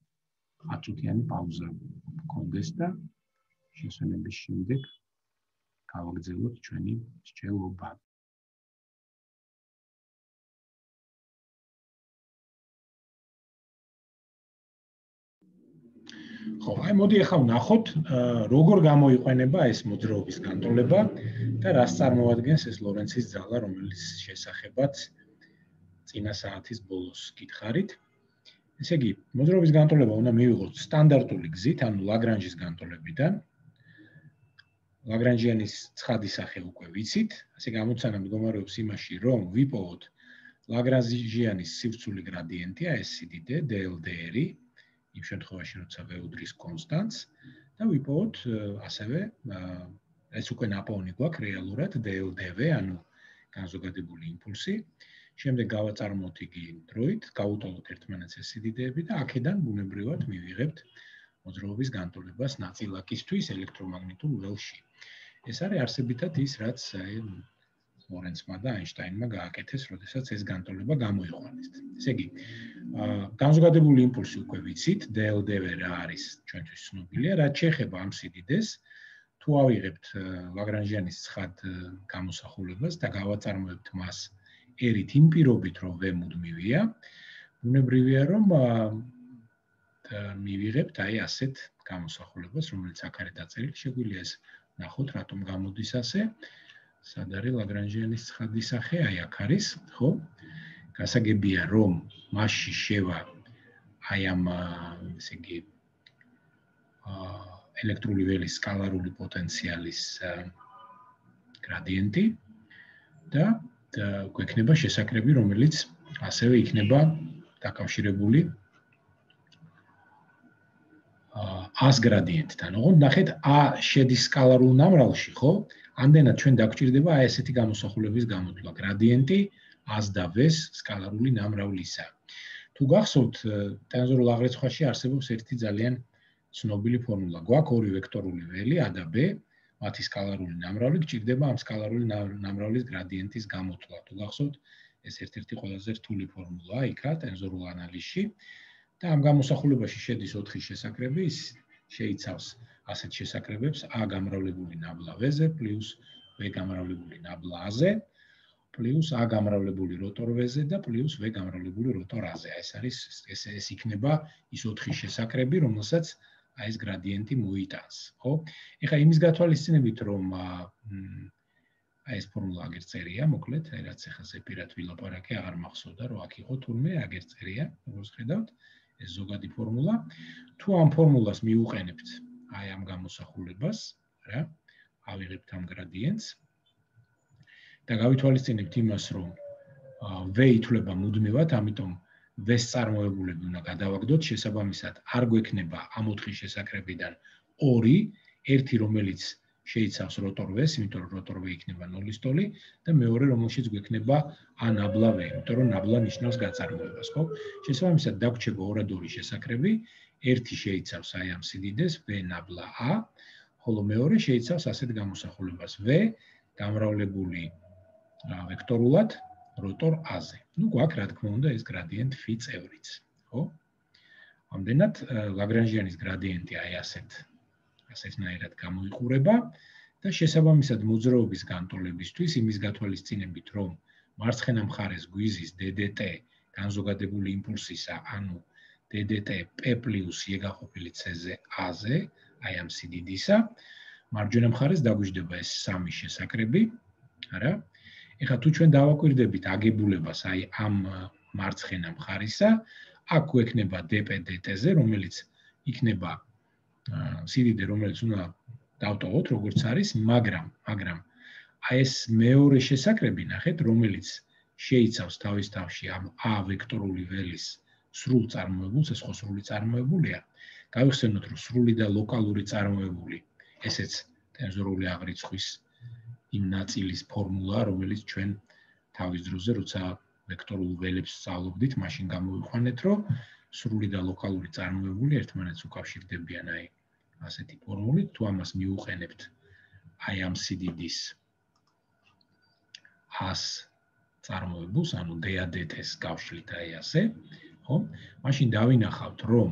10 წუთიანი პაუზა გქონდეს და შესვენების შემდეგ გავაგრძელოთ ჩვენი მსჯელობა. ხო, აი მოდი ახლა ვნახოთ, როგორ გამოიყენება ეს მოძრაობის განტოლება და რას წარმოადგენს ეს ლორენცის ძალა, რომელიც შესახებაც წინა საათის ბოლოს გითხარით. ესე იგი, მოძრაობის განტოლება უნდა მივიღოთ სტანდარტული გზით, ანუ ლაგრანჟის განტოლებიდან. ლაგრანჟიანის ცხადი სახე უკვე ვიცით, ასე გამოცანა მდგომარეობს იმაში, რომ ვიპოვოთ ლაგრანჟიანის სივრცული გრადიენტია ეს სიდიდე dl/dr, იმ შემთხვევაში, როცა ვეუდრის კონსტანტს და ვიპოვოთ ასევე ეს უკვე ნაპოვნი გვაქვს რეალურად dl/dv, ანუ განზოგადებული იმპულსი. შემდეგ გავაწარმოოთ იგი დროით, გავუტოლოთ ერთმანეთს ეს სიდიდეები და აქედან ბუნებრივად მივიღებთ მოძრაობის განტოლებას ნაწილაკისთვის ელექტრომაგნიტურ ველში. ეს არის არსებითად ის, რაც ლორენცმა და აინშტაინმა გააკეთეს, როდესაც ეს განტოლება გამოიყვანეს. ესე იგი, განზოგადებული იმპულსი უკვე ვიცით, dl/dv რა არის ჩვენთვის ცნობილია, რაც შეეხება ამ სიდიდეს, თუ ავიღებთ ლაგრანჟიანის ცხად გამოსახულებას და გავაწარმოებთ მას ერით იმ პირობით, რომ v მუდმივია, ბუნებრივია, რომ მივიღებთ აი ასეთ გამოსახულებას, რომელიც აქ არის დაწერილი, შეგვიძლია ეს ნახოთ, რატომ გამოდის ასე. სად არის ლაგრანჟიანის ცხადი სახე? აი აქ არის, ხო? გასაგებია, რომ მასში შევა აი ამ, ესე იგი, ელექტრული ველის სკალარული პოტენციალის გრადიენტი და გვექნება შესაკრები, რომელიც ასევე იქნება დაკავშირებული A-ს გრადიენტთან. ოღონდ ნახეთ, A შედის სკალარულ ნამრავლში, ხო? ამდენად ჩვენ დაგვჭირდება აი ესეთი გამოსახულების გამოთვლა. გრადიენტი A-ს და V-ს სკალარული ნამრავლისა. თუ გახსოვთ, ტენზორულ აღრიცხვაში არსებობს ერთი ძალიან ცნობილი ფორმულა. გვაქვს ორი ვექტორული ველი A და B, მათი სკალარული ნამრავლი გჭირდება ამ სკალარული ნამრავლის გრადიენტის გამოთვლა. თუ გახსოვთ, ეს ერთ-ერთი ყველაზე რთული ფორმულაა იქა ტენზორულ ანალიზში და ამ გამოსახულებაში შედის 4 შესაკრები, ის შეიცავს ასეთ შესაკრებებს A გამრავლებული ნაბლა V-ზე პლუს V გამრავლებული ნაბლა A-ზე პლუს A გამრავლებული როტორ V-ზე და პლუს V გამრავლებული როტორ A-ზე. ეს იქნება ის 4 შესაკრები, რომელსაც აი ეს გრადიენტი მოიტანს, ხო? ეხლა იმის გათვალისწინებით, რომ აი ეს ფორმულა აგერ წერია, მოკლედ, აი რაც ახლა ზეპირად ვილაპარაკე, აღარ მახსოვდა, რომ აქ იყო თურმე აგერ წერია, როგორც ხედავთ, ეს ზოგადი ფორმულა. თუ ამ ფორმულას მიუყენებთ აი ამ გამოსახულებას, რა, ავიღებთ ამ გრადიენტს და გავითვალისწინებთ იმას, რომ v ითვლება მუდმივად, ამიტომ v-ს წარმოებულები უნდა გადავაგდოთ, შესაბამისად, არ გვექნება ამ 4 შესაკრებიდან 2, ერთი რომელიც შეიცავს როტორ v-ს, იმიტომ რომ როტორ v იქნება 0-ის ტოლი და მეორე რომელშიც გვექნება a ნაბლა v, იმიტომ რომ ნაბლა ნიშნავს გაწარმოებას, ხო? შესაბამისად, დაგვრჩება 2 შესაკრები, ერთი შეიცავს აი ამ სიდიდეს v ნაბლა a, ხოლო მეორე შეიცავს ასეთ გამოსახულებას v გამრავლებული ვექტორულად როტორ a-ზე. ნუ გვაქვს რა თქმა უნდა ეს გრადიენტ φ წევრიც, ხო? ამდენად ლაგრანჟიანის გრადიენტი აი ასეთნაირად გამოიყურება და შესაბამისად მოძრაობის განტოლებისთვის იმის გათვალისწინებით, რომ მარცხენა მხარეს გვიზის ddt განზოგადებული იმპულსისა, ანუ ddt p + e გაყოფილი c-ზე a-ზე, აი ამ სიდიდისა, მარჯვენა მხარეს დაგვიждდება ეს 3 შესაკრები, არა? ეხლა თუ ჩვენ დავაკვირდებით აგებულებას აი ამ მარცხენა მხარისა, აქ გვექნება dp dt-ზე, რომელიც იქნება სიდიდე, რომელიც უნდა დავტოვოთ, როგორც არის, მაგრამ აი ეს მეორე შესაკრები ნახეთ, რომელიც შეიცავს თავის თავში ამ a ვექტორული ველის სრულ წარმოებულს, ეს ხო სრული წარმოებულია. გავიხსენოთ, რომ სრული და ლოკალური წარმოებული, ესეც ტენზორული აღრიცხვის იმ ნაწილის ფორმულა, რომელიც ჩვენ თავის დროზე, როცა ვექტორულ ველებს სწავლობდით, მაშინ გამოვიყვანეთ, რომ სრული და ლოკალური წარმოებული ერთმანეთს უკავშირდებიან აი ასეთი ფორმულით, თუ ამას მიუყენებთ აი ამ სიდიდის a-ს წარმოებულს, ანუ ddt-ს გავშლით აი ასე, ხო? მაშინ დავინახავთ, რომ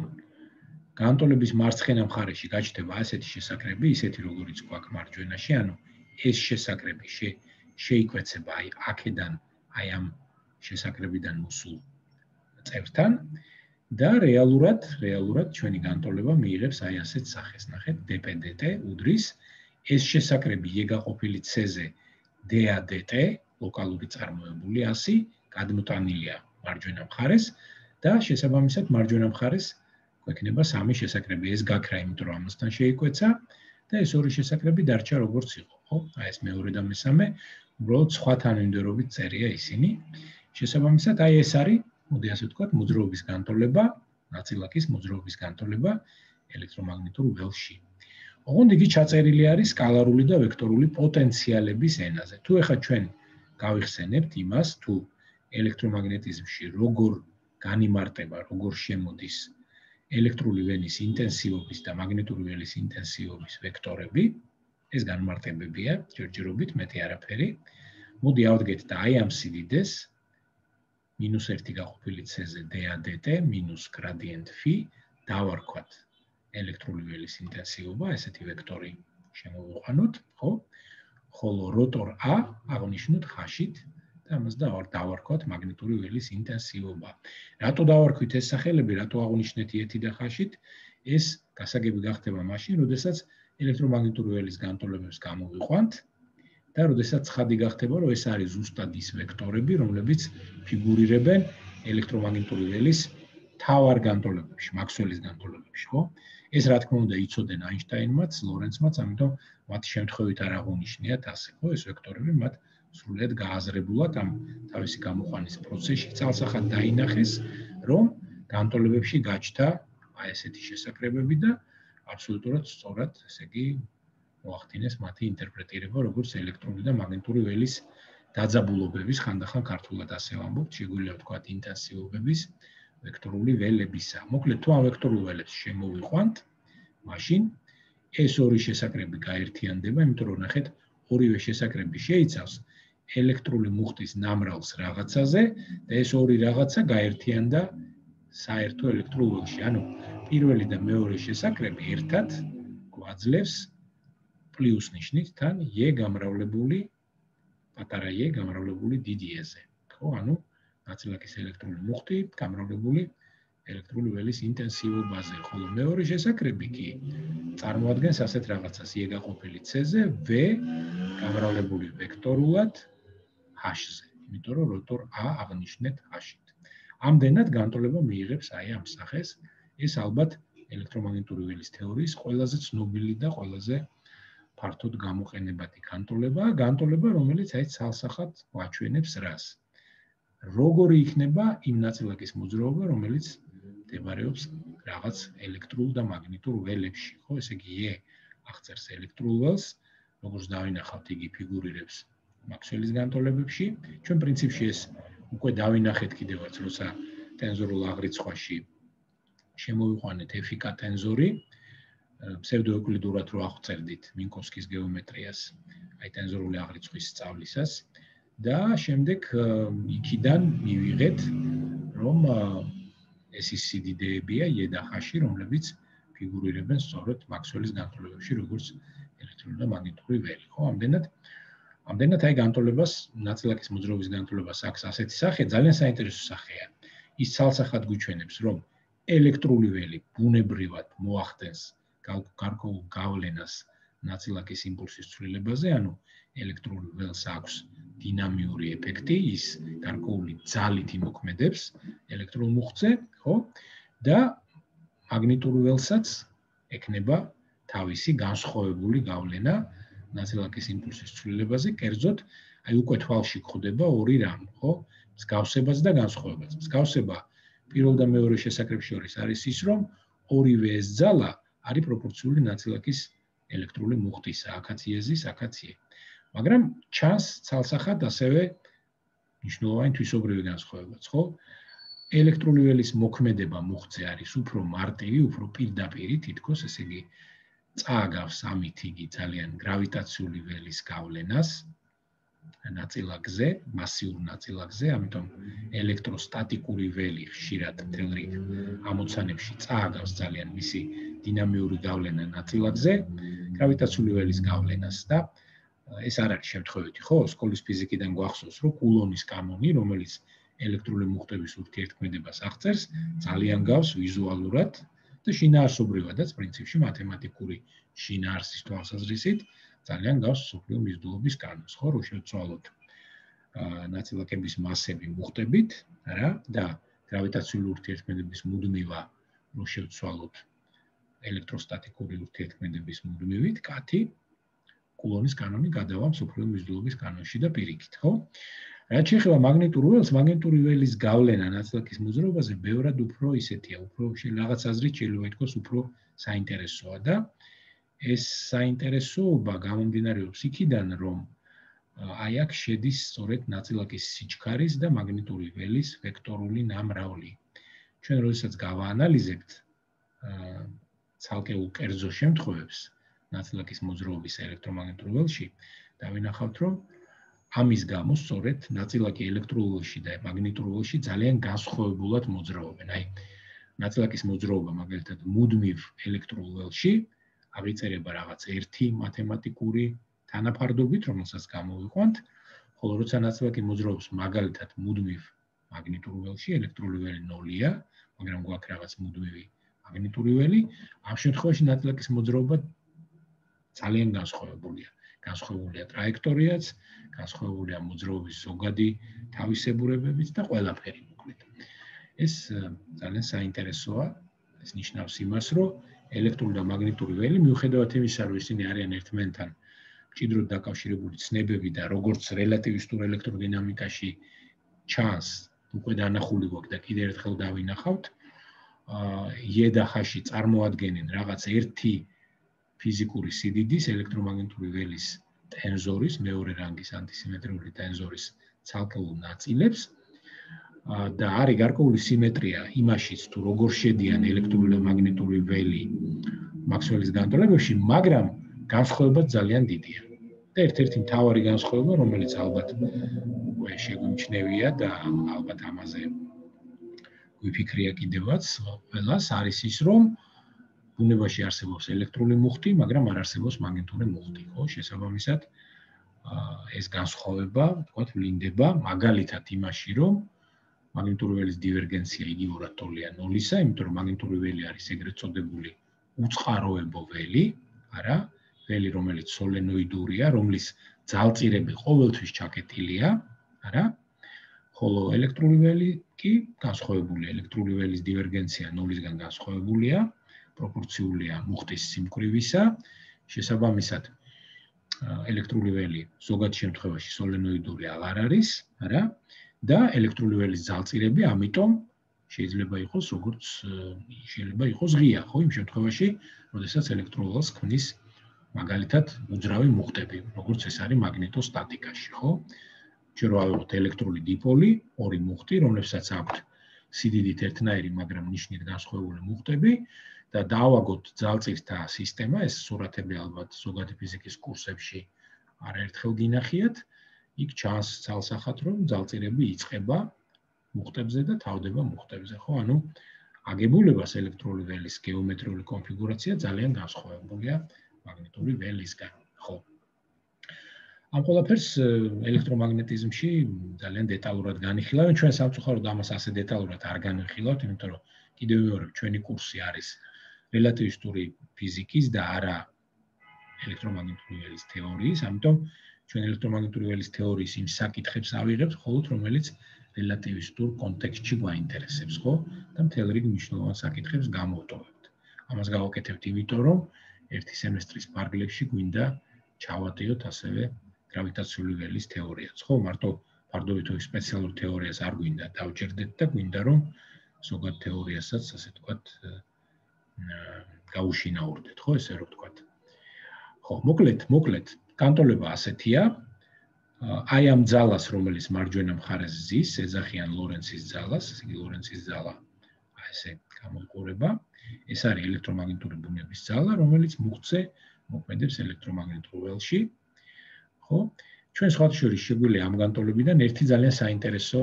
განტოლების მარცხენა მხარეში გაჩნდება ასეთი შესაკრები, ისეთი როგორიც გვაქვს მარჯვენაში, ანუ ეს შესაკრები შეიკვეცება აი აქედან, აი ამ შესაკრებიდან მოსულ წევრთან და რეალურად ჩვენი განტოლება მიიღებს აი ასეთ სახეს. ნახეთ, dp dt უდრის ეს შესაკრები e გაყოფილი c-ზე da dt ლოკალური წარმოებული 100 გადმოტანილია მარჯვენა მხარეს და შესაბამისად მარჯვენა მხარეს გვექნება 3 შესაკრები. ეს გაქრა, იმიტომ რომ ამასთან შეიკვეცა და ეს 2 შესაკრები დარჩა როგორც იყო, ხო? აი ეს მეორე და მესამე, უბრალოდ სხვა თანმიმდევრობით წერია ისინი. შესაბამისად, აი ეს არის, მოდი ასე ვთქვათ, მოძრაობის განტოლება, ნაწილაკის მოძრაობის განტოლება ელექტრომაგნიტურ ველში. ოღონდ იგი ჩაწერილი არის სკალარული და ვექტორული პოტენციალების ენაზე. თუ ეხლა ჩვენ გავიხსენებთ იმას, თუ ელექტრომაგნეტიზმში როგორ განიმარტება, როგორ შემოდის ელექტრული ველის ინტენსივობის და მაგნიტური ველის ინტენსივობის ვექტორები, ეს განმარტებებია, ჯერჯერობით მეტი არაფერი. მოდი ავდგეთ და აი ამ სიდიდეს -1 გაყოფილი c-ზე da dt minus gradient φ დავარქვათ ელექტრული ველის ინტენსივობა, ესეთი ვექტორი შემოვიყვანოთ, ხო? ხოლო როტორ a აღნიშნოთ ხაშით და ამას დავარქვათ მაგნიტური ველის ინტენსივობა. რატო დავარქვით ეს სახელები, რატო აღნიშნეთ i-ით და ხაშით? ეს გასაგები გახდება მაშინ, როდესაც ელექტრომაგნიტური ველის განტოლებებს გამოვიყვანთ და როდესაც ცხადი გახდება, რომ ეს არის ზუსტად ის ვექტორები, რომლებიც ფიგურირებენ ელექტრომაგნიტური ველის თავარ განტოლებებში, მაქსველის განტოლებებში, ხო? ეს რა თქმა უნდა იცოდნენ აინშტაინმაც, ლორენცმაც, ამიტომ მათი შემთხვევით არ აღუნიშნიათ ასე, ხო? ეს ვექტორები მათ სრულიად გააზრებულად ამ თავისი გამოყვანის პროცესში წალსახად დაინახეს, რომ განტოლებებში გაჩნდა აი ესეთი შესაკრებები და აბსოლუტურად სწორად, ესე იგი, მოახდინეს მათი ინტერპრეტირება, როგორც ელექტრული და მაგნიტური ველის დაძაბულობების, ხანდახან ქართულად ასე ვამბობთ, შეგვიძლია ვთქვათ ინტენსივობების ვექტორული ველებისა. მოკლედ, თუ ამ ვექტორულ ველებს შემოვიყვანთ, მაშინ ეს 2 შესაკრები გაერთიანდება, იმიტომ რომ ნახეთ, ორივე შესაკრები შეიცავს ელექტრული მუხტის ნამრავლს რაღაცაზე და ეს 2 რაღაცა გაერთიანდა საერთო ელექტრულ ველში. ანუ პირველი და მეორე შესაკრები ერთად გვაძლევს პლუს ნიშნით თან e გამრავლებული პატარა e გამრავლებული დიდი e-ზე. ხო, ანუ ნაწილაკის ელექტრული მუხტი გამრავლებული ელექტრული ველის ინტენსივობაზე, ხოლო მეორე შესაკრები კი წარმოადგენს ასეთ რაღაცას e გაყოფილი c-ზე v გამრავლებული ვექტორულად h-ზე, იმიტომ რომ როტორ a აღნიშნეთ h-ით. ამდენად განტოლება მიიღებს აი ამ სახეს. ეს ალბათ ელექტრომაგნიტური ველის თეორიის ყველაზე ცნობილი და ყველაზე ფართოდ გამოყენებადი განტოლება, რომელიც აი ცალსახად ვაჩვენებს რას. როგორი იქნება იმ ნაწილაკის მოძრაობა, რომელიც მდებარეობს რაღაც ელექტრულ და მაგნიტურ ველებში, ხო? ესე იგი, E აღწერს ელექტრულ ველს, როგორც დავინახავთ, იგი ფიგურირებს მაქსველის განტოლებებში. ჩვენ პრინციპში ეს უკვე დავინახეთ კიდევაც, როცა ტენზორულ აღრიცხვაში შემოვიყვანეთ FK ტენზორი, ფსევდოეუკლიდურად რო აღწერდით მინკოვსკის გეომეტრიას, აი ტენზორული აღრიცხვის სწავლისას და შემდეგ იქიდან მივიღეთ, რომ ეს ის სიდიდეებია E და H, რომლებიც ფიგურირებენ სწორედ მაქსველის განტოლებებში, როგორც ელექტრული და მაგნიტური ველი, ხო? ამდენად აი განტოლებას, ნაწილაკის მოძრაობის განტოლებას აქვს ასეთი სახე, ძალიან საინტერესო სახეა. ის ცალსახად გვიჩვენებს, რომ ელექტრული ველი ბუნებრივად მოახდენს გარკვეულ გავლენას ნაწილაკის იმპულსის ცვლილებაზე, ანუ ელექტრული ველს აქვს დინამიური ეფექტი, ის გარკვეული ძალით იმოქმედებს ელექტრულ მუხტზე, ხო? და მაგნიტური ველსაც ექნება თავისი განსხვავებული გავლენა ნაწილაკის იმპულსის ცვლილებაზე, კერძოდ, აი უკვე თვალში გვხვდება ორი რამ, ხო? მსგავსებაც და განსხვავებაც. მსგავსება პირველ და მეორე შესაკრებს შორის არის ის, რომ ორივე ეს ძალა არის პროპორციული ნაწილაკის ელექტრული მუხტისა, აქაც E-ზის, აქაც E. მაგრამ ჩანს ცალსახად ასევე მნიშვნელოვანი თვისობრივი განსხვავებაც, ხო? ელექტრული ველის მოქმედება მუხტზე არის უფრო მარტივი, უფრო პირდაპირი, თითქოს, ესე იგი, წააგავს ამით იგი ძალიან გრავიტაციული ველის გავლენას ნაწილაკზე, მასიურ ნაწილაკზე, ამიტომ ელექტროსტატიკური ველი ხშირად მთელ რიგ ამოცანებში წააგავს ძალიან მისი დინამიური გავლენა ნაწილაკზე, გრავიტაციული ველის გავლენას და ეს არ არის შემთხვევითი, ხო? სკოლის ფიზიკიდან გვახსოვს, რომ კულონის კანონი, რომელიც ელექტრული მუხტების ურთიერთქმედებას აღწერს, ძალიან გავს ვიზუალურად და შინაარსობრივადაც პრინციპში მათემატიკური შინაარსის თვალსაზრისით ძალიან გავს მსოფლიო მიზიდულობის კანონს, ხო? რო შევცვალოთ ნაწილაკების მასები მუხტებით, რა და გრავიტაციული ურთიერთქმედების მუდმივა რო შევცვალოთ ელექტროსტატიკური ურთიერთქმედების მუდმივით, კათი კულონის კანონი გადავა მსოფლიო მიზიდულობის კანონში და პირიქით, ხო? რაც შეეხება მაგნიტურ ველს, მაგნიტური ველის გავლენა ნაწილაკის მოძრაობაზე ბევრად უფრო ისეთია, უფრო რაღაც აზრით შეიძლება ითქვას უფრო საინტერესოა და ეს საინტერესოობა გამომდინარეობს იქიდან, რომ აი აქ შედის სწორედ ნაწილაკის სიჩქარის და მაგნიტური ველის ვექტორული ნამრავლი. ჩვენ როდესაც გავაანალიზებთ ცალკეულ კერძო შემთხვევებს ნაწილაკის მოძრაობის ელექტრომაგნიტურ ველში, დავინახავთ, რომ ამის გამო სწორედ ნაწილაკი ელექტრულ ველში და მაგნიტურ ველში ძალიან განსხვავებულად მოძრაობენ. აი, ნაწილაკის მოძრაობა მაგალითად მუდმივ ელექტრულ ველში აღიწერება რაღაც ერთი მათემატიკური თანაფარდობით, რომელსაც გამოვიყვანთ, ხოლო როცა ნაწილაკი მოძრაობს მაგალითად მუდმივ მაგნიტურ ველში, ელექტრული ველი 0-ია, მაგრამ გვაქვს რაღაც მუდმივი მაგნიტური ველი, ამ შემთხვევაში ნაწილაკის მოძრაობა ძალიან განსხვავებულია. განსხვავებულია ტრაექტორიაც, განსხვავებულია მოძრაობის ზოგადი თავისებურებებიც და ყველაფერი მოკლედ. ეს ძალიან საინტერესოა, ეს ნიშნავს იმას, რომ ელექტრული და მაგნიტური ველი მიუხედავად იმისა, რომ ისინი არიან ერთმანეთთან მჭიდროდ დაკავშირებული ცნებები და როგორც რელატივისტურ ელექტროდინამიკაში ჩანს, უკვე დანახული გვაქვს და კიდევ ერთხელ დავინახავთ, E და H წარმოადგენენ რაღაც ერთი ფიზიკური სიდიდის ელექტრომაგნიტური ველის ტენზორის, მეორე რანგის ანტისიმეტრიული ტენზორის ცალკეულ ნაწილებს და არის გარკვეული სიმეტრია იმაშიც, თუ როგორ შედიან ელექტრული და მაგნიტური ველი მაქსველის განტოლებებში, მაგრამ განსხვავება ძალიან დიდია. და ერთ-ერთი მთავარი განსხვავება, რომელიც ალბათ უკვე შეგვიმჩნევია და ალბათ ამაზე გვიფიქრია კიდევაც ყველას, არის ის, რომ ბუნებაში არსებობს ელექტრული მუხტი, მაგრამ არ არსებობს მაგნიტური მუხტი, ხო? შესაბამისად, ეს განსხვავება, თქვათ, ვლინდება მაგალითად იმაში, რომ მაგნიტური ველის დივერგენცია იგივე ტოლია 0-ისა, იმიტომ რომ მაგნიტური ველი არის ეგრეთ წოდებული უწყაროებო ველი, არა, ველი, რომელიც სოლენოიდურია, რომლის ძალწირები ყოველთვის ჩაკეტილია, არა? ხოლო ელექტრული ველი კი განსხვავებულია, ელექტრული ველის დივერგენცია 0-დან განსხვავებულია, პროპორციულია მუხტის სიმკვრივისა, შესაბამისად ელექტრული ველი ზოგად შემთხვევაში სოლენოიდური აღარ არის, არა? და ელექტრული ველის ძალწირები ამიტომ შეიძლება იყოს როგორც შეიძლება იყოს ღია, ხო, იმ შემთხვევაში, როდესაც ელექტრულ ველს ქმნის მაგალითად უძრავი მუხტები, როგორც ეს არის მაგნიტოსტატიკაში, ხო? ჯერ ავიღოთ ელექტრული დიპოლი, ორი მუხტი, რომლებსაც აქვთ სიდიდით ერთნაირი, მაგრამ ნიშნით განსხვავებული მუხტები და დავაგოთ ძალწირთა სისტემა, ეს სურათები ალბათ ზოგადი ფიზიკის კურსებში არაერთხელ გინახიათ, იქ ჩანს ძალსახად, რომ ძალწირები იწყება მუხტებზე და თავდება მუხტებზე, ხო? ანუ აგებულებას ელექტრული ველის გეომეტრიული კონფიგურაცია ძალიან განსხვავებულია მაგნიტური ველისგან, ხო? ამ ყველაფერს ელექტრომაგნეტიზმში ძალიან დეტალურად განიხილავენ, ჩვენ სამწუხაროდ ამას ასე დეტალურად არ განვიხილავთ, იმიტომ რომ კიდევ მეორე ჩვენი კურსი არის რელატივისტური ფიზიკის და არა ელექტრომაგნიტური ველის თეორიის, ამიტომ ჩვენ ელექტრომაგნიტური ველის თეორიის იმ საკითხებს ავიღებთ, მხოლოდ რომელიც რელატივისტურ კონტექსტში გვაინტერესებს, ხო? და მთელ რიგ მნიშვნელოვან საკითხებს გამოვტოვებთ. ამას გავაკეთებთ იმიტომ, რომ ერთი სემესტრის ფარგლებში გვინდა ჩავატიოთ ასევე გრავიტაციული ველის თეორიაც, ხო? მარტო ფარდობითობის სპეციალურ თეორიას არ გვინდა დავჭერდეთ და გვინდა რომ ზოგად თეორიასაც, ასე ვთქვათ, გაუშინაურდეთ, ხო, ესე რომ ვთქვათ. ხო, მოკლედ, განტოლება ასეთია. აი ამ ძალას, რომელიც მარჯვენა მხარეს ზის, ეძახიან ლორენცის ძალას, ესე იგი ლორენცის ძალა ესე გამოიყურება. ეს არის ელექტრომაგნიტური ბუნების ძალა, რომელიც მუხტზე მოქმედებს ელექტრომაგნიტურ ველში. ხო? ჩვენ სხვათა შორის შეგვიძლია ამ განტოლებიდან ერთი ძალიან საინტერესო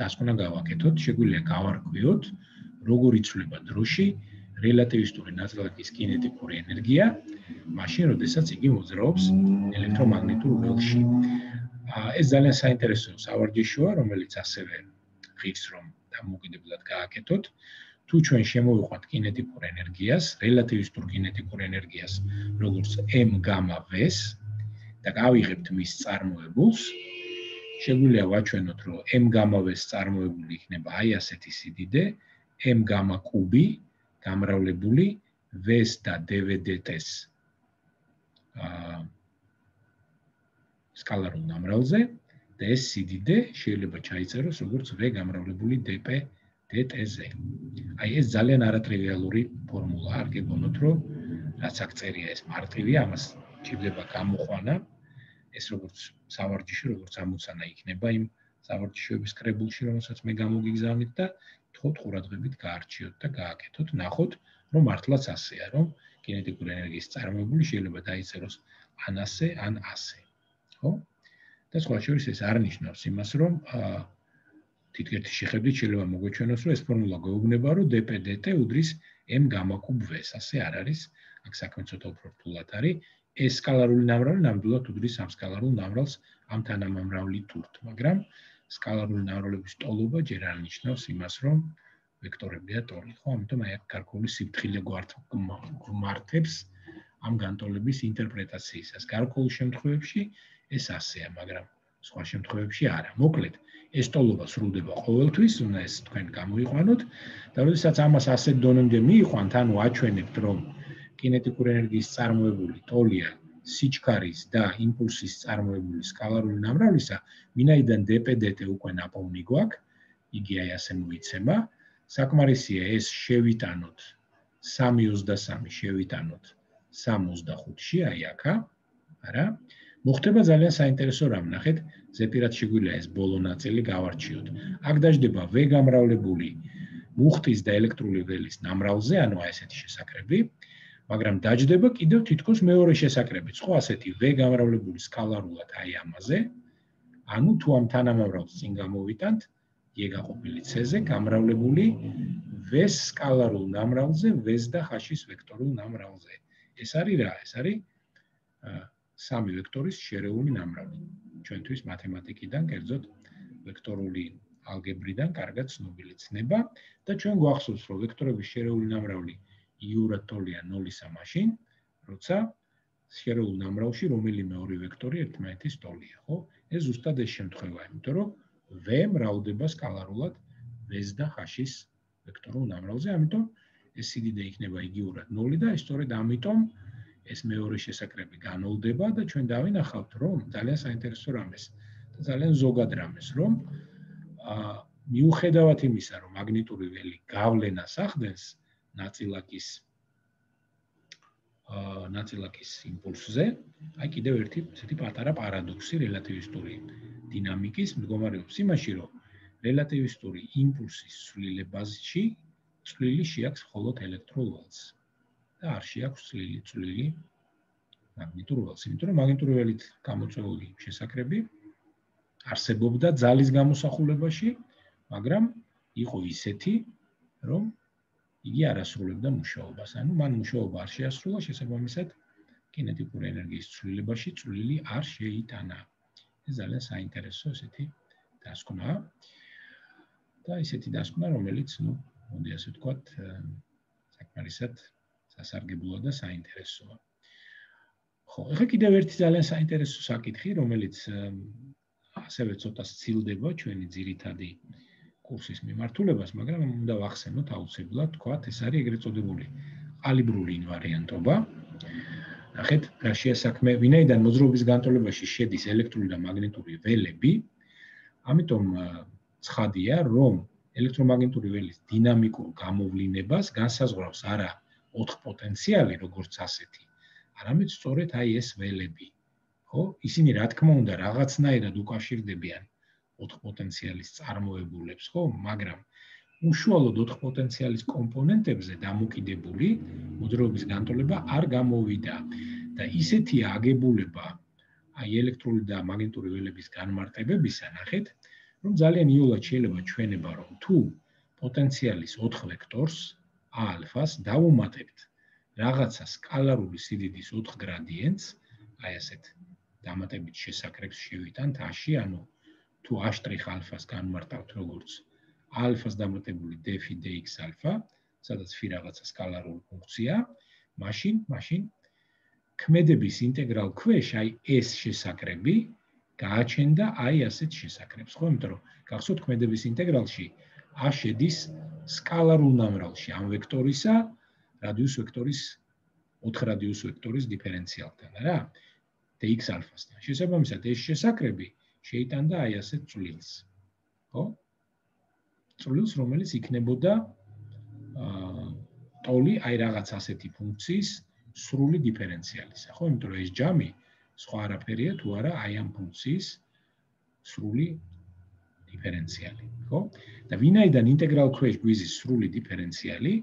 დასკვნა გავაკეთოთ, შეგვიძლია გავარკვიოთ, როგორ იცვლება დროში რელატივისტური ნაწილაკის კინეტიკური ენერგია, მაშინ, როდესაც იგი მოძრაობს ელექტრომაგნიტურ ველში. ეს ძალიან საინტერესო სავარჯიშოა, რომელიც ასევე ღირს რომ დამოუკიდებლად გააკეთოთ. თუ ჩვენ შემოვიყვანთ კინეტიკურ ენერგიას, რელატივისტურ კინეტიკურ ენერგიას, როგორც m-v-ს და გავიღებთ მის წარმოებულს, შეგვიძლია ვაჩვენოთ, რომ m-v-ს წარმოებული იქნება აი ასეთი სიდიდე, m-კუბი გამრავლებული v-ს და dv-dt-ს სკალარულ ნამრავლზე და ეს სიდიდე შეიძლება ჩაიწეროს როგორც v გამრავლებული dp-dt-ზე. აი ეს ძალიან არატრივიალური ფორმულაა, არ გეგონოთ, რომ რაც აქ წერია ეს მარტივია, ამას ჭირდება გამოყვანა. ეს როგორც სავარჯიში, როგორც ამოცანა იქნება იმ სავარჯიშოების კრებულში, რომელსაც მე გამოგიგზავნით და თხოვთ ყურადღებით გაარჩიოთ და გააკეთოთ, ნახოთ, რომ მართლაც ასეა, რომ კინეტიკური ენერგიის წარმოებული შეიძლება დაიწეროს ან ასე, ან ასე. ხო? და სხვა შორის ეს არ ნიშნავს იმას, რომ თითქოს შეხედვით შეიძლება მოგვეჩვენოს, რომ ეს ფორმულა გვეუბნება, რომ dp-dt უდრის m-v-ს, ასე არ არის, აქ საქმე ცოტა უფრო რთულად არის. ეს სკალარული ნამრავლი ნამდვილად უდრის ამ სკალარულ ნამრავლს ამ თანამამრავლით თურთ, მაგრამ სკალარული ნამრავლების ტოლობა ჯერ არ ნიშნავს იმას, რომ ვექტორებია ტოლი, ხო? ამიტომ აი აქ გარკვეული სიფრთხილე გვართებს ამ განტოლების ინტერპრეტაციისას. გარკვეულ შემთხვევებში ეს ასეა, მაგრამ სხვა შემთხვევებში არა. მოკლედ, ეს ტოლობა სრულდება ყოველთვის, უნდა ეს თქვენ გამოიყვანოთ და როდესაც ამას ასეთ დონემდე მიიყვანთ, ანუ აჩვენებთ, რომ კინეტიკური ენერგიის წარმოებული ტოლია სიჩქარის და იმპულსის წარმოებული სკალარული ნამრავლისა, ვინაიდან dp-dt უკვე ნაპოვნი გვაქვს, იგი აი ასე მოიცემა. საკმარისია ეს შევიტანოთ 3.23 შევიტანოთ 3.25-ში, აი აქა, არა? მოხდება ძალიან საინტერესო რამ, ნახეთ, ზეპირად შეგვიძლია ეს ბოლო ნაწილი გავარჩიოთ. აქ დაждდება v გამრავლებული მუხტის და ელექტრული ველის ნამრავლზე, ანუ აი ესეთი შესაკრები, მაგრამ დაждდება კიდევ თითქოს მეორე შესაკრებიც, ხო, ასეთი v გამრავლებული სკალარულად აი ამაზე, ანუ თუ ამ თანამამრავლს წინ გამოვიტანთ, e გაყოფილი c-ზე გამრავლებული v-ს სკალარულ ნამრავლზე, v-ს და h-ის ვექტორულ ნამრავლზე. ეს არის რა? ეს არის სამი ვექტორის შერეული ნამრავლი. ჩვენთვის მათემატიკიდან, კერძოდ ვექტორული ალგებრიდან კარგად ცნობილი ცნება და ჩვენ გვახსოვს, რომ ვექტორების შერეული ნამრავლი იურად ტოლია 0-ისა მაშინ, როცა სფერულ ნამრავლში რომელიმე ორი ვექტორი ერთმანეთის ტოლია, ხო? ეს ზუსტად ეს შემთხვევაა, იმიტომ რომ V მრავლდება სკალარულად V-ს და H-ის ვექტორულ ნამრავლზე, ამიტომ ეს სიდიდე იქნება იგივურად 0 და სწორედ ამიტომ ეს მეორე შესაკრები განოლდება და ჩვენ დავინახავთ, რომ ძალიან საინტერესო რამეს და ძალიან ზოგად რამეს, რომ მიუხედავად იმისა, რომ მაგნიტური ველი გავლენას ახდენს ნაწილაკის იმპულსზე, აი კიდევ ერთი ესეთი პატარა პარადოქსი რელატივისტური დინამიკის მდგომარეობს იმაში, რომ რელატივისტური იმპულსის ცვლილებაში წვლილი შეაქვს მხოლოდ ელექტრულ ველს და არ შეაქვს წვლილი მაგნიტურ ველს, იმიტომ რომ მაგნიტური ველით გამოწვეული შესაკრები არსებობდა ძალის გამოსახულებაში, მაგრამ იყო ისეთი, რომ იგი არ ასრულებდა მუშაობას. ანუ მან მუშაობა არ შეასრულა, შესაბამისად, კინეტიკური ენერგიის ცვლილებაში წვლილი არ შეიტანა. ეს ძალიან საინტერესო ესეთი დასკვნაა. და ისეთი დასკვნა, რომელიც, მოდი ასე ვთქვათ, საკმარისად სასარგებლოა და საინტერესოა. ხო, ეხლა კიდევ ერთი ძალიან საინტერესო საკითხი, რომელიც ასევე ცოტა სცილდება ჩვენი ძირითადი კურსის მიმართულებას, მაგრამ უნდა ვახსენოთ აუცილებლად, თქვათ, ეს არის ეგრეთ წოდებული კალიბრური ინვარიანტობა. ნახეთ, რა შეასაქმე, ვინაიდან მოძრაობის განტოლებაში შედის ელექტრული და მაგნიტური ველები, ამიტომ ცხადია, რომ ელექტრომაგნიტური ველის დინამიკურ გამოვლინებას განსაზღვრავს არა 4 პოტენციალი, როგორც ასეთი, არამედ სწორედ აი ეს ველები. ხო? ისინი რა თქმა უნდა რაღაცნაირად უკავშირდებიან 4 პოტენციალის წარმოებულებს, ხო? მაგრამ უშუალოდ 4 პოტენციალის კომპონენტებზე დამოკიდებული მოძრაობის განტოლება არ გამოვიდა და ისეთია აგებულება აი ელექტრული და მაგნიტური ველების განმარტებებისა, ნახეთ, რომ ძალიან იოლად შეიძლება ჩვენება, რომ თუ პოტენციალის 4 ვექტორს α-ს დავუმატებთ რაღაცა სკალარული სიდიდის 4 გრადიენტს, აი ასეთ დამატებით შესაკრებს შევიტანთ A-ში, ანუ თუ A'-ას განმარტავთ როგორც α-ს დამატებული d-ფი dx α, სადაც φ რაღაცა სკალარული ფუნქცია, მაშინ ქმედების ინტეგრალ ქვეშ აი ეს შესაკრები გააჩენდა აი ასეთ შესაკრებს, ხო? იმიტომ რომ გახსოვთ ქმედების ინტეგრალში A შედის სკალარულ ნამრავლში ამ ვექტორისა რადიუს ვექტორის 4 რადიუს ვექტორის დიფერენციალთან, რა? dx α-სთან. შესაბამისად ეს შესაკრები შეიტანდა აი ასეთ წვლილს. ხო? წვლილს, რომელიც იქნებოდა ტოლი აი რაღაც ასეთი ფუნქციის სრული დიფერენციალისა, ხო? იმიტომ რომ ეს ჯამი სხვა არაფერია თუ არა აი ამ ფუნქციის სრული დიფერენციალი, ხო? და ვინაიდან ინტეგრალ ქვეშ გვიზის სრული დიფერენციალი,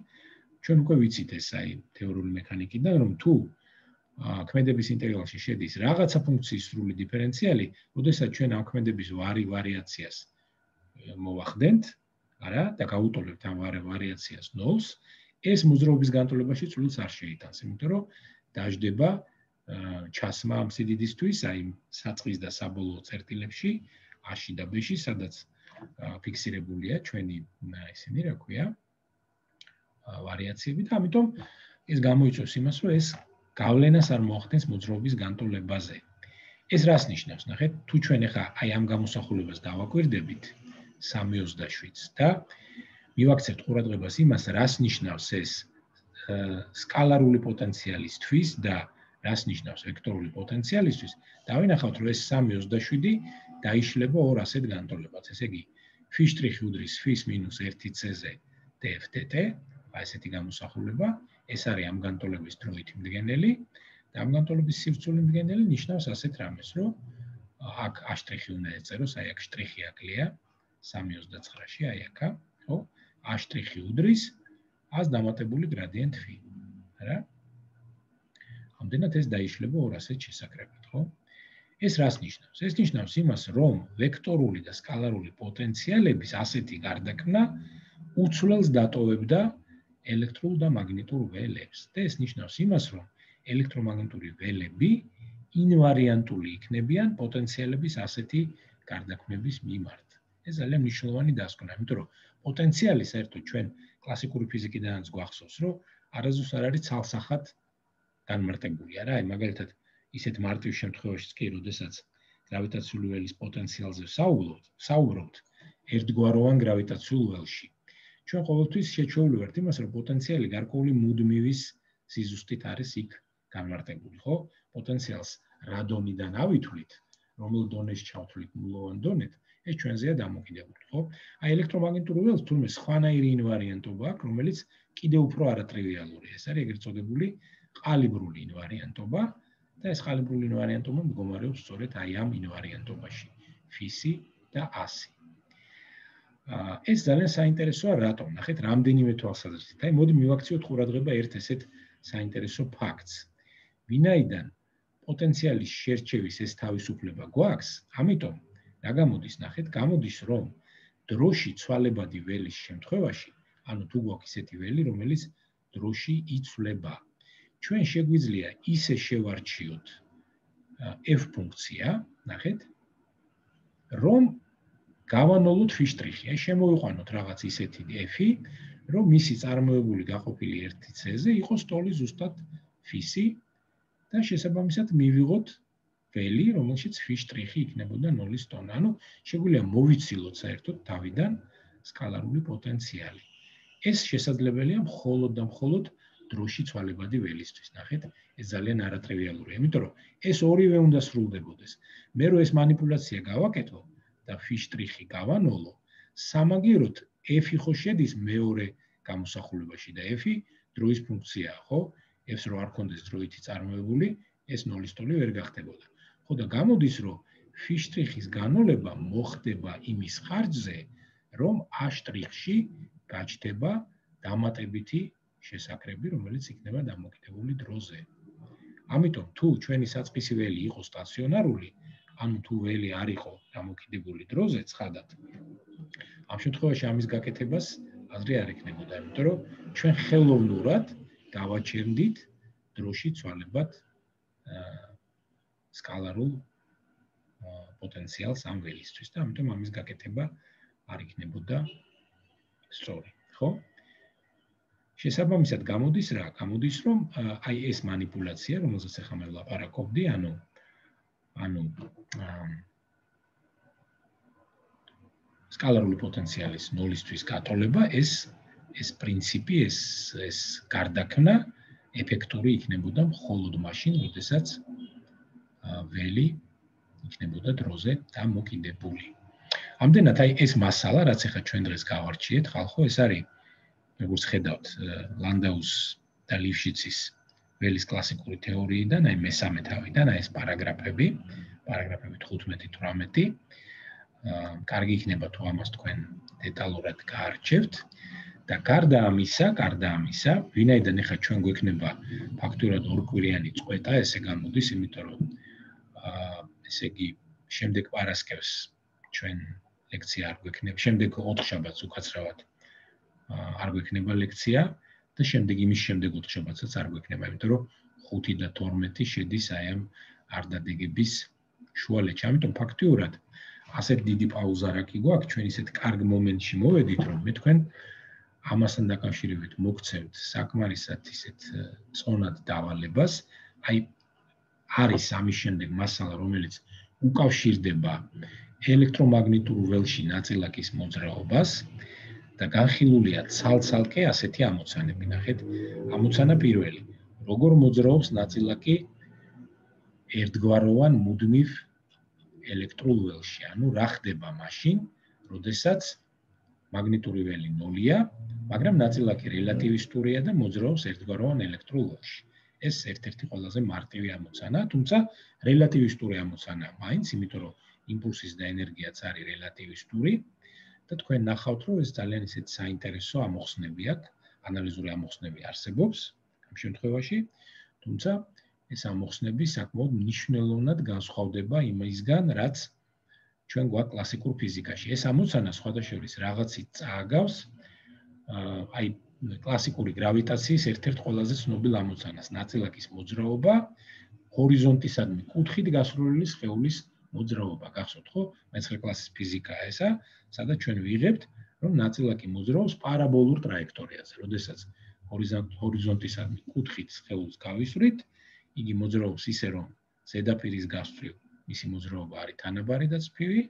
ჩვენ უკვე ვიცით ეს აი თეორიული მექანიკიდან, რომ თუ ქმედების ინტეგრალში შედის რაღაცა ფუნქციის სრული დიფერენციალი, როდესაც ჩვენ ამ ქმედების ვარიაციას მოვახდენთ, არა, და გავუტოლებთ ამ ვარიაციას 0-ს, ეს მოძრაობის განტოლებაში წვლილს არ შეიტანს, იმიტომ რომ დაждდება ჩასმა ამ სიდიდისთვის, აი საწყის და საბოლოო წერტილებში, A-ში და B-ში, სადაც ფიქსირებულია ჩვენი ისინი, რა ქვია, ვარიაციები და ამიტომ ეს გამოიწვევს იმას, რომ ეს გავლენას არ მოახდენს მოძრაობის განტოლებაზე. ეს რას ნიშნავს? ნახეთ, თუ ჩვენ ახლა აი ამ გამოსახულებას დავაკვირდებით 3.27-ს და მივაქცევთ ყურადღებას იმას, რას ნიშნავს ეს სკალარული პოტენციალისთვის და რას ნიშნავს ვექტორული პოტენციალისთვის, დავინახავთ, რომ ეს 3.27 დაიშლება ორ ასეთ განტოლებად. ესე იგი, φ' უდრის φ-1 c-ზე df/dt, აი ესეთი გამოსახულება, ეს არის ამ განტოლების დროითი მდგენელი და ამ განტოლების სივრცული მდგენელი ნიშნავს ასეთ რამეს, რომ აქ A' უნდა ეწეროს, აი აქ შტრიხი აკლია 3.29-ში, აი აქა, ხო? A' უდრის A-ს დამატებული გრადიენტ φ. რა? ამდენად ეს დაიშლება ორ ასეთ შესაკრებად, ხო? ეს რას ნიშნავს? ეს ნიშნავს იმას, რომ ვექტორული და სკალარული პოტენციალების ასეთი გარდაქმნა უცვლელს დატოვებდა ელექტრულ და მაგნიტურ ველებს. და ეს ნიშნავს იმას, რომ ელექტრომაგნიტური ველები ინვარიანტული იქნებიან პოტენციალების ასეთი გარდაქმნების მიმართ. ეს ძალიან მნიშვნელოვანი დასკვნა, იმიტომ რომ პოტენციალი საერთოდ ჩვენ კლასიკური ფიზიკიდანაც გვახსოვს, რომ არასდროს არ არის ცალსახად განმარტებული, არა? აი მაგალითად ისეთ მარტივ შემთხვევაშიც კი, როდესაც გრავიტაციული ველის პოტენციალზე საუბრობთ, ერთგვაროვან გრავიტაციულ ველში. ჩვენ ყოველთვის შეჩვეული ვართ იმას, რომ პოტენციალი გარკვეული მუდმივის სიზუსტით არის იქ განმარტებული, ხო? პოტენციალს რა დონიდან ავითვლით, რომელ დონეში ჩავთვლით ნულოვან დონეთ, ეს ჩვენზეა დამოკიდებული, ხო? აი ელექტრომაგნიტურ ველს თურმე სხვანაირი ინვარიანტობა აქვს, რომელიც კიდევ უფრო არატრივიალურია. ეს არის ეგრეთ წოდებული ყალიბრული ინვარიანტობა და ეს ყალიბრული ინვარიანტობა მდგომარეობს სწორედ აი ამ ინვარიანტობაში, ფისი და ასი. ეს ძალიან საინტერესოა, რატომ? ნახეთ, რამდენიმე თვალსაზრისით. აი მოდი მივაქციოთ ყურადღება ერთ ესეთ საინტერესო ფაქტს. ვინაიდან პოტენციალის შერჩევის ეს თავისუფლება გვაქვს, ამიტომ რა გამოდის, ნახეთ, გამოდის, რომ დროში ცვალებადი ველის შემთხვევაში, ანუ თუ გვაქვს ისეთი ველი, რომელიც დროში იცვლება, ჩვენ შეგვიძლია ისე შევარჩიოთ f ფუნქცია, ნახეთ, რომ გავანოლოთ φ'. აი შემოვიყვანოთ რაღაც ისეთი f-ი, რომ მისი წარმოებული გაყოფილი 1c-ზე იყოს ტოლი ზუსტად φ-ი და შესაბამისად მივიღოთ ველი, რომელშიც φ' იქნებოდა 0-ის ტონა. ანუ შეგვიძლია მოვიცილოთ საერთოდ თავიდან სკალარული პოტენციალი. ეს შესაძლებელია მხოლოდ და მხოლოდ დროში ცვალებადი ველისთვის. ნახეთ, ეს ძალიან არატრივიალურია, იმიტომ რომ ეს ორივე უნდა სრულდებოდეს. მე რო ეს манипуляცია გავაკეთო და φ' გავანოლო, სამაგიეროდ f-ი ხო შედის მეორე გამოსახულებაში და f-ი დროის ფუნქციაა, ხო? f-ს რო არ ქონდეს დროითი წარმოებული, ეს 0-ის ტოლი ვერ გახდებოდა. ხო და გამოდის, რომ φ'-ის განოლება მოხდება იმის ხარჯზე, რომ a'-ში გაჩნდება დამატებითი შესაკრები, რომელიც იქნება დამოკიდებული დროზე. ამიტომ თუ ჩვენი საწყისი ველი იყო სტაციონარული, ანუ თუ ველი არ იყო დამოკიდებული დროზე, ცხადად, ამ შემთხვევაში ამის გაკეთებას აზრი არ ექნებოდა, იმიტომ რომ ჩვენ ხელოვნურად გავაჩერდით დროში ცვალებად სკალარულ პოტენციალს ამ ველისთვის და ამიტომ ამის გაკეთება არ იქნებოდა სწორი, ხო? შესაბამისად გამოდის რა? გამოდის, რომ აი ეს манипуляცია, რომელზეც ახლა მე ვლაპარაკობდი, ანუ სკალარული პოტენციალის 0-ისთვის გატოლება, ეს პრინციპი, ეს გარდაქმნა ეფექტური იქნებოდა მხოლოდ მაშინ, როდესაც ველი იქნებოდა დროზე დამოკიდებული. ამდენად აი ეს მასალა, რაც ახლა ჩვენ დღეს გავარჩიეთ, ხალხო, ეს არის როგორც ხედავთ, ლანდაუს და ლიიფშიცის ველის კლასიკური თეორიიდან, აი მესამე თავიდან, აი ეს პარაგრაფები 15-18. კარგი იქნება თუ ამას თქვენ დეტალურად გაარჩევთ და გარდა ამისა, ვინაიდან ახლა ჩვენ გვექნება ფაქტურად ორკვირიანი წყვეტა, ესე გამოდის, იმიტომ რომ ესე იგი შემდეგ პარასკევს ჩვენ ლექცია არ გვექნება, შემდეგ 4 შაბათს უკაცრავად არ გვექნება ლექცია და შემდეგ იმის შემდეგ 4 შაბათსაც არ გვექნება, იმიტომ რომ 5 და 12 შედის აი ამ არდადეგების შუალედში. ამიტომ ფაქტიურად ასეთ დიდი პაუზა რა კი გვაქვს, ჩვენ ისეთ კარგ მომენტში მოვედით, რომ მე თქვენ ამასთან დაკავშირებით მოგცემთ საკმარისად ისეთ წონად დავალებას, აი არის ამის შემდეგ მასალა, რომელიც უკავშირდება ელექტრომაგნიტურ ველში ნაწილაკის მოძრაობას და განხილულია ცალ-ცალკე ასეთი ამოცანები. ნახეთ, ამოცანა პირველი. როგორ მოძრაობს ნაწილაკი ერთგვაროვან მუდმივ ელექტრულ ველში? ანუ რა ხდება მაშინ, როდესაც მაგნიტური ველი 0-ია, მაგრამ ნაწილაკი რელატივისტურია და მოძრაობს ერთგვაროვან ელექტრულ ველში. ეს ერთ-ერთი ყველაზე მარტივი ამოცანაა, თუმცა რელატივისტური ამოცანაა მაინც, იმიტომ რომ იმპულსის და ენერგიაც არის რელატივისტური და თქვენ ნახავთ, რომ ეს ძალიან ისეთ საინტერესო ამოხსნები აქვს, ანალიზური ამოხსნები არსებობს ამ შემთხვევაში, თუმცა ეს ამოხსნები საკმაოდ მნიშვნელოვნად განსხვავდება იმისგან, რაც ჩვენ გვაქვს კლასიკურ ფიზიკაში. ეს ამოცანა სხვადასხვა რაღაცით წააგავს აი კლასიკური გრავიტაციის ერთ-ერთ ყველაზე ცნობილ ამოცანას, ნაწილაკის მოძრაობა ჰორიზონტისადმი კუთხით გასროლილი სხეულის მოძრაობა. გახსოვთ ხო? მე-9 კლასის ფიზიკაა ესა, სადაც ჩვენ ვიღებთ, რომ ნაწილაკი მოძრაობს პარაბოლურ ტრაექტორიაზე. როდესაც ჰორიზონტისადმი კუთხით სხეულს გავისვრით, იგი მოძრაობს ისე, რომ ზედაპირის გასწვრივ მისი მოძრაობა არის თანაბარი და წფივი,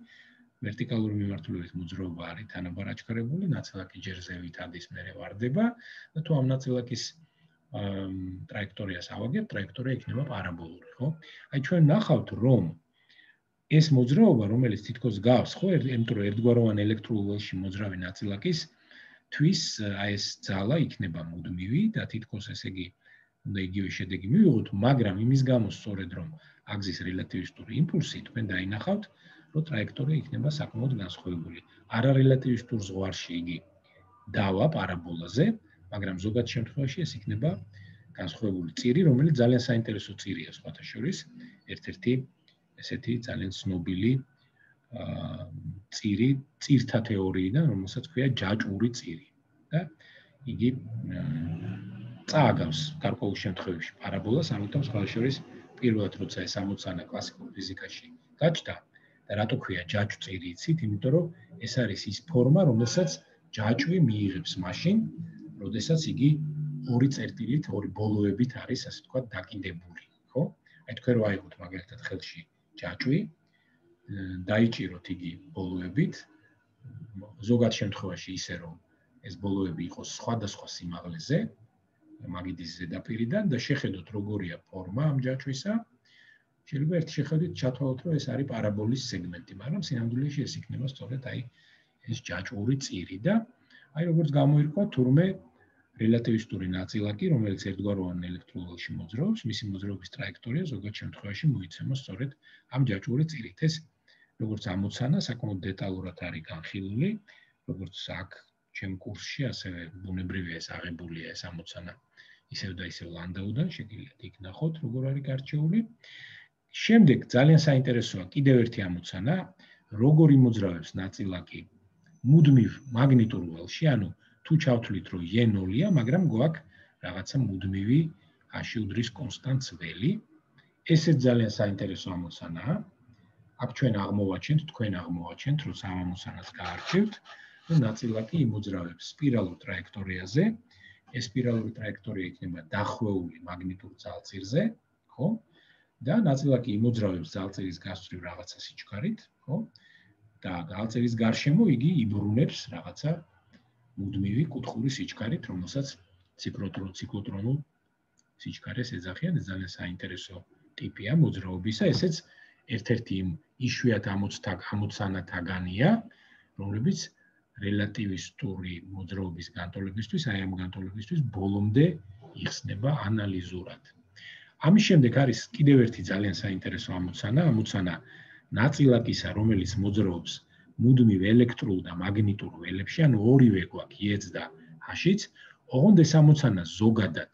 ვერტიკალური მიმართულებით მოძრაობა არის თანაბარ აჩქარებული, ნაწილაკი ჯერ ზევით ადის, მერე ვარდება და თუ ამ ნაწილაკის ტრაექტორიას ავაგებთ, ტრაექტორია იქნება პარაბოლური, ხო? აი ჩვენ ნახავთ, რომ ეს მოძრაობა, რომელიც თითქოს გავს, ხო, იმიტომ რომ ერთგვაროვან ელექტრულ ველში მოძრავი ნაწილაკის თვის აი ეს ძალა იქნება მუდმივი და თითქოს ესე იგი უნდა იგივე შედეგი მივიღოთ, მაგრამ იმის გამო სწორედ რომ აგზის რელატივისტური იმპულსი თქვენ დაინახავთ, რომ ტრაექტორია იქნება საკმაოდ განსხვავებული. არარელატივისტურ ზღვარში იგი დავა პარაბოლაზე, მაგრამ ზოგად შემთხვევაში ეს იქნება განსხვავებული წირი, რომელიც ძალიან საინტერესო წირია სხვათა შორის, ერთ-ერთი ესეთი ძალიან ცნობილი წირი, წირთა თეორიიდან, რომელსაც ქვია ჯაჭვური წირი. და იგი წააგავს გარკვეულ შემთხვევებში პარაბოლას, ამიტომ სხვა შორის პირველად როცა ეს ამოცანა კლასიკურ ფიზიკაში გაჩნდა და რატო ქვია ჯაჭვწირი იცით, იმიტომ რომ ეს არის ის ფორმა, რომელსაც ჯაჭვი მიიღებს მაშინ, როდესაც იგი ორი წერტილით, ორი ბოლოებით არის, ასე ვთქვათ, დაკიდებული, ხო? აი თქვენ რო აიღოთ მაგალითად ხელში ჯაჭვი, დაიჭიროთ იგი ბოლოებით, ზოგად შემთხვევაში ისე რომ ეს ბოლოები იყოს სხვადასხვა სიმაღლეზე, მაგიდის ზედაპირიდან და შეხედოთ როგორია ფორმა ამ ჯაჭვისა. შეიძლება ერთი შეხედვით ჩათვალოთ, რომ ეს არის პარაბოლის სეგმენტი, მაგრამ სინამდვილეში ეს იქნება სწორედ აი ეს ჯაჭვური წირი და აი როგორც გამოირკვა თურმე რელატივისტური ნაწილაკი, რომელიც ერთგვაროვან ელექტრულ ველში მოძრაობს, მისი მოძრაობის ტრაექტორია ზოგად შემთხვევაში მოიცემა სწორედ ამ ჯაჭვური წირით. ეს როგორც ამოცანა საკმაოდ დეტალურად არის განხილული, როგორც აქ ჩემ კურსში, ასევე ბუნებრივია ეს აღებულია ეს ამოცანა ისევ და ისევ ლანდაუდან, შეგიძლიათ იქ ნახოთ, როგორ არის გარჩეული. შემდეგ ძალიან საინტერესოა კიდევ ერთი ამოცანა, როგორ იმოძრავებს ნაწილაკი მუდმივ მაგნიტურ ველში, ანუ თუ ჩავთვლით, რომ E0-ია, მაგრამ გვაქვს რაღაცა მუდმივი აში უდრის კონსტანტ ველი. ესეც ძალიან საინტერესო ამოცანაა. აქ ჩვენ აღმოვაჩენთ, თქვენ აღმოვაჩენთ, როცა ამ ამოცანას გაარჩევთ, რომ ნაწილაკი იმოძრავებს სპირალურ ტრაექტორიაზე. ეს სპირალური ტრაექტორია იქნება დახვეული მაგნიტურ ძალწირზე, ხო? და ნაწილაკი იმოძრავებს ძალწირის გასწვრივ რაღაცა სიჩქარით, ხო? და ძალწირის გარშემო იგი იბრუნებს რაღაცა მუდმივი კუთხური სიჩქარით, რომელსაც ციკლოტრონულ სიჩქარეს ეძახიან, ეს ძალიან საინტერესო ტიპია მოძრაობისა, ესეც ერთ-ერთი იმ იშვიათ ამოცანათაგანია, რომლებიც რელატივისტური მოძრაობის განტოლებისთვის, აი ამ განტოლებისთვის ბოლომდე იხსნება ანალიზურად. ამის შემდეგ არის კიდევ ერთი ძალიან საინტერესო ამოცანა ნაწილაკისა, რომელიც მოძრაობს მუდმივ ელექტრულ და მაგნიტურ ველებში, ანუ ორივე გვაქვს E-ც და H-იც, ოღონდ ეს ამოცანა ზოგადად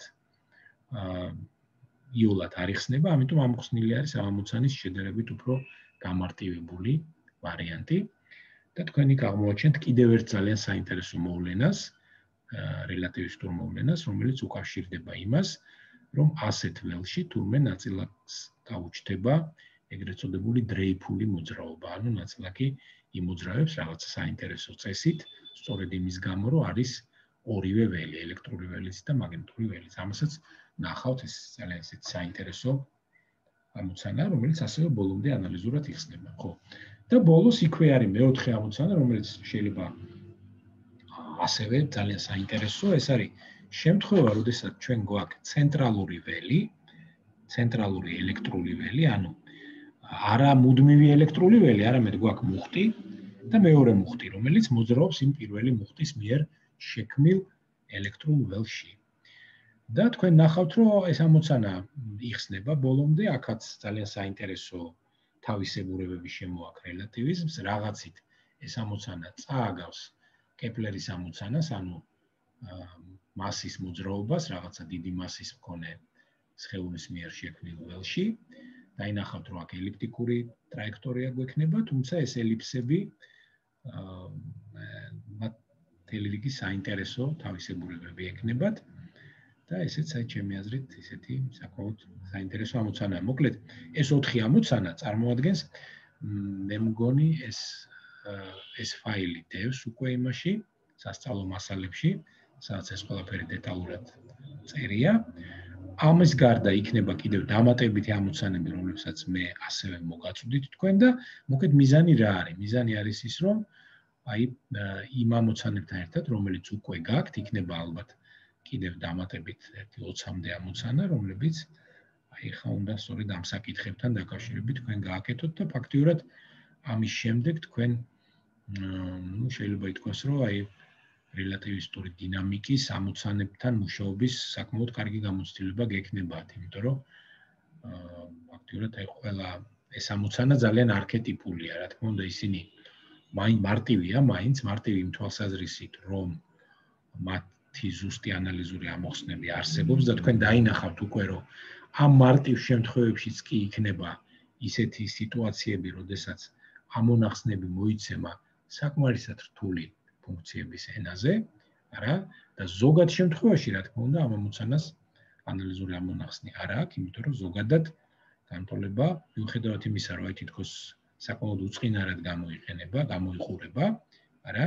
იოლად არ იხსნება, ამიტომ ამოხსნილი არის ამ ამოცანის შედარებით უფრო გამარტივებული ვარიანტი. და თქვენ იქ აღმოვაჩენთ კიდევ ერთ ძალიან საინტერესო მოვლენას, რელატივისტურ მოვლენას, რომელიც უკავშირდება იმას, რომ ასეთ ველში თურმე ნაწილაკს გაუჩნდება ეგრეთ წოდებული დრეიფული მოძრაობა, ანუ ნაწილაკი იმოძრავებს რაღაცა საინტერესო წესით, სწორედ იმის გამო, რომ არის ორივე ველი, ელექტრული ველიც და მაგნიტური ველიც. ამასაც ნახავთ, ეს ძალიან საინტერესო ამოცანა, რომელიც ასევე ბოლომდე ანალიზურად იხსნება, ხო? და ბოლოს იქვე არის მეოთხე ამოცანა, რომელიც შეიძლება ასევე ძალიან საინტერესოა, ეს არის შემთხვევა, როდესაც ჩვენ გვაქვს ცენტრალური ველი, ცენტრალური ელექტრული ველი, ანუ არა მუდმივი ელექტრული ველი, არამედ გვაქვს მუხტი და მეორე მუხტი, რომელიც მოძრაობს იმ პირველი მუხტის მიერ შექმნილ ელექტრულ ველში. და თქვენ ნახავთ, რომ ეს ამოცანა იხსნება ბოლომდე, აქაც ძალიან საინტერესო თავისებურებები შემოაქვს რელატივიზმს, რაღაცით ეს ამოცანა წააგავს კეპლერის ამოცანას, ანუ მასის მოძრაობას, რაღაცა დიდი მასის მქონე სხეულის მიერ შექმნილ ველში. დაინახავთ, რომ აქ ელიფტიკური ტრაექტორია გვექნება, თუმცა ეს ელიფსები მთელი რიგი საინტერესო თავისებურებები ექნებათ და ესეც აი ჩემი აზრით ისეთი საკმაოდ საინტერესო ამოცანაა. მოკლედ, ეს 4 ამოცანა წარმოადგენს მე მგონი ეს ფაილი დევს უკვე იმაში, სასწავლო მასალებში, სადაც ეს ყველაფერი დეტალურად წერია. ამის გარდა იქნება კიდევ დამატებითი ამოცანები, რომლებსაც მე ასევე მოგაწვდით თქვენ და მოკეთ მიზანი რა არის? მიზანი არის ის, რომ აი იმ ამოცანებთან ერთად, რომელიც უკვე გაქვთ, იქნება ალბათ კიდევ დამატებით 20-მდე ამოცანა, რომლებიც აი ხა უნდა სწორედ ამ საკითხებთან დაკავშირებით თქვენ გააკეთოთ და ფაქტიურად ამის შემდეგ თქვენ შეიძლება ითქვას, რომ აი რელატივისტური დინამიკის ამოცანებთან მუშაობის საკმაოდ კარგი გამოცდილება გექნებათ, იმიტომ რომ ფაქტიურად აი ყველა ეს ამოცანა ძალიან არქეტიპულია, რა თქმა უნდა, ისინი მარტივია, მაინც მარტივი იმ თვალსაზრისით, რომ მათი ზუსტი ანალიზური ამოხსნები არსებობს და თქვენ დაინახავთ უკვე, რომ ამ მარტივ შემთხვევებშიც კი იქნება ისეთი სიტუაციები, როდესაც ამონახსნები მოიცემა საკმარისად რთული ფუნქციების ენაზე, არა? და ზოგად შემთხვევაში, რა თქმა უნდა, ამ ამოცანას ანალიზური ამონახსნი არ აქვს, იმიტომ რომ ზოგადად განტოლება, მიუხედავად იმისა, რომ აი თითქოს საკმაოდ უწყინარად გამოიყურება, არა?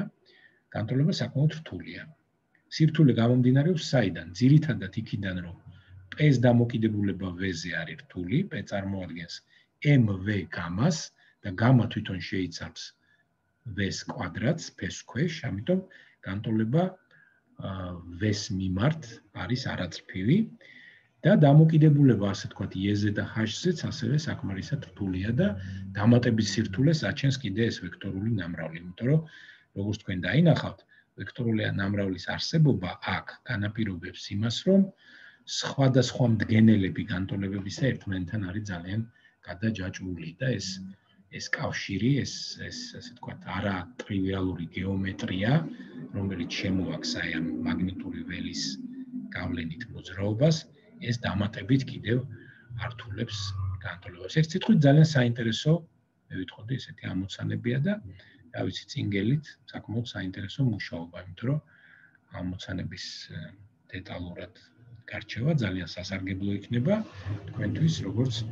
განტოლება საკმაოდ რთულია. სირთულე გამომდინარეობს საიდან? ძირითადად იქიდან, რომ P-ს დამოკიდებულება V-ზე არის რთული, P წარმოადგენს MV გამას და გამა თვითონ შეიცავს V-ს კვადრატს P-ს ქვეშ, ამიტომ განტოლება V-ს მიმართ არის არაწრფივი და დამოკიდებულება, ასე თქვათ, E-ზე და H-ზეც ასევე საკმარისად რთულია და დამატების სირთულეს აჩენს კიდე ეს ვექტორული ნამრავლი, იმიტომ რომ როგორც თქვენ დაინახავთ, ვექტორული ნამრავლის არსებობა აქ განაპირობებს იმას, რომ სხვადასხვა მდგენელები განტოლებებისა ერთმანეთთან არის ძალიან გადაჯაჭვული და ეს კავშირი, ეს ასე თქვათ, არა ტრივიალური გეომეტრია, რომელიც შემოაქვს აი ამ მაგნიტური ველის გავლენით მოძრაობას, ეს დამატებით კიდევ ართულებს განტოლებას. ერთ სიტყვით ძალიან საინტერესო, მე ვიტყოდი, ესეთი ამოცანებია და რა ვიცი, წინგელით საკმაოდ საინტერესო მუშაობა, იმიტომ რომ ამოცანების დეტალურად გარჩევა ძალიან სასარგებლო იქნება თქვენთვის, როგორც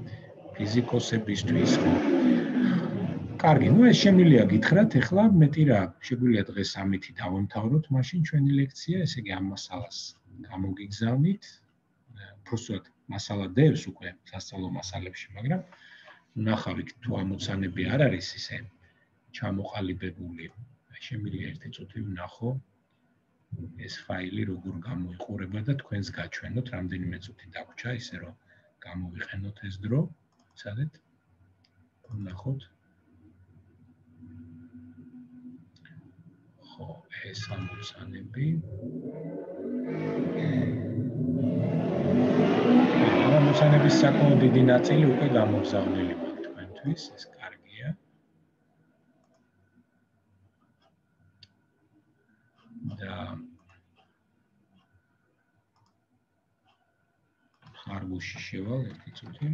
ფიზიკოსებისთვის. კარგი, ну ეს შემიძლია გითხრათ, ეხლა მეტი რა, შეგვიძლია დღეს ამითი დავამთავროთ, მაშინ ჩვენი ლექცია, ესე იგი ამ მასალას გამოგიგზავნით. უბრალოდ მასალა დევს უკვე სასწავლო მასალებში, მაგრამ ნახავთ თუ ამოცანები არ არის ისე ჩამოყალიბებული. შემიძლია ერთი წუთი ვნახო ეს ფაილი როგორ გამოიყურება და თქვენს გაჩვენოთ, რამდენიმე წუთი დაგვრჩა, ისე რომ გამოვიყენოთ ეს დრო. სადეთ ვნახოთ. ხო, ეს ამოცანები. ამოცანების საკმაოდ დიდი ნაწილი უკვე გამოგზავნილი მაქვს თქვენთვის, ეს კარგია. და ხარბუში შევალ ერთი წუთი.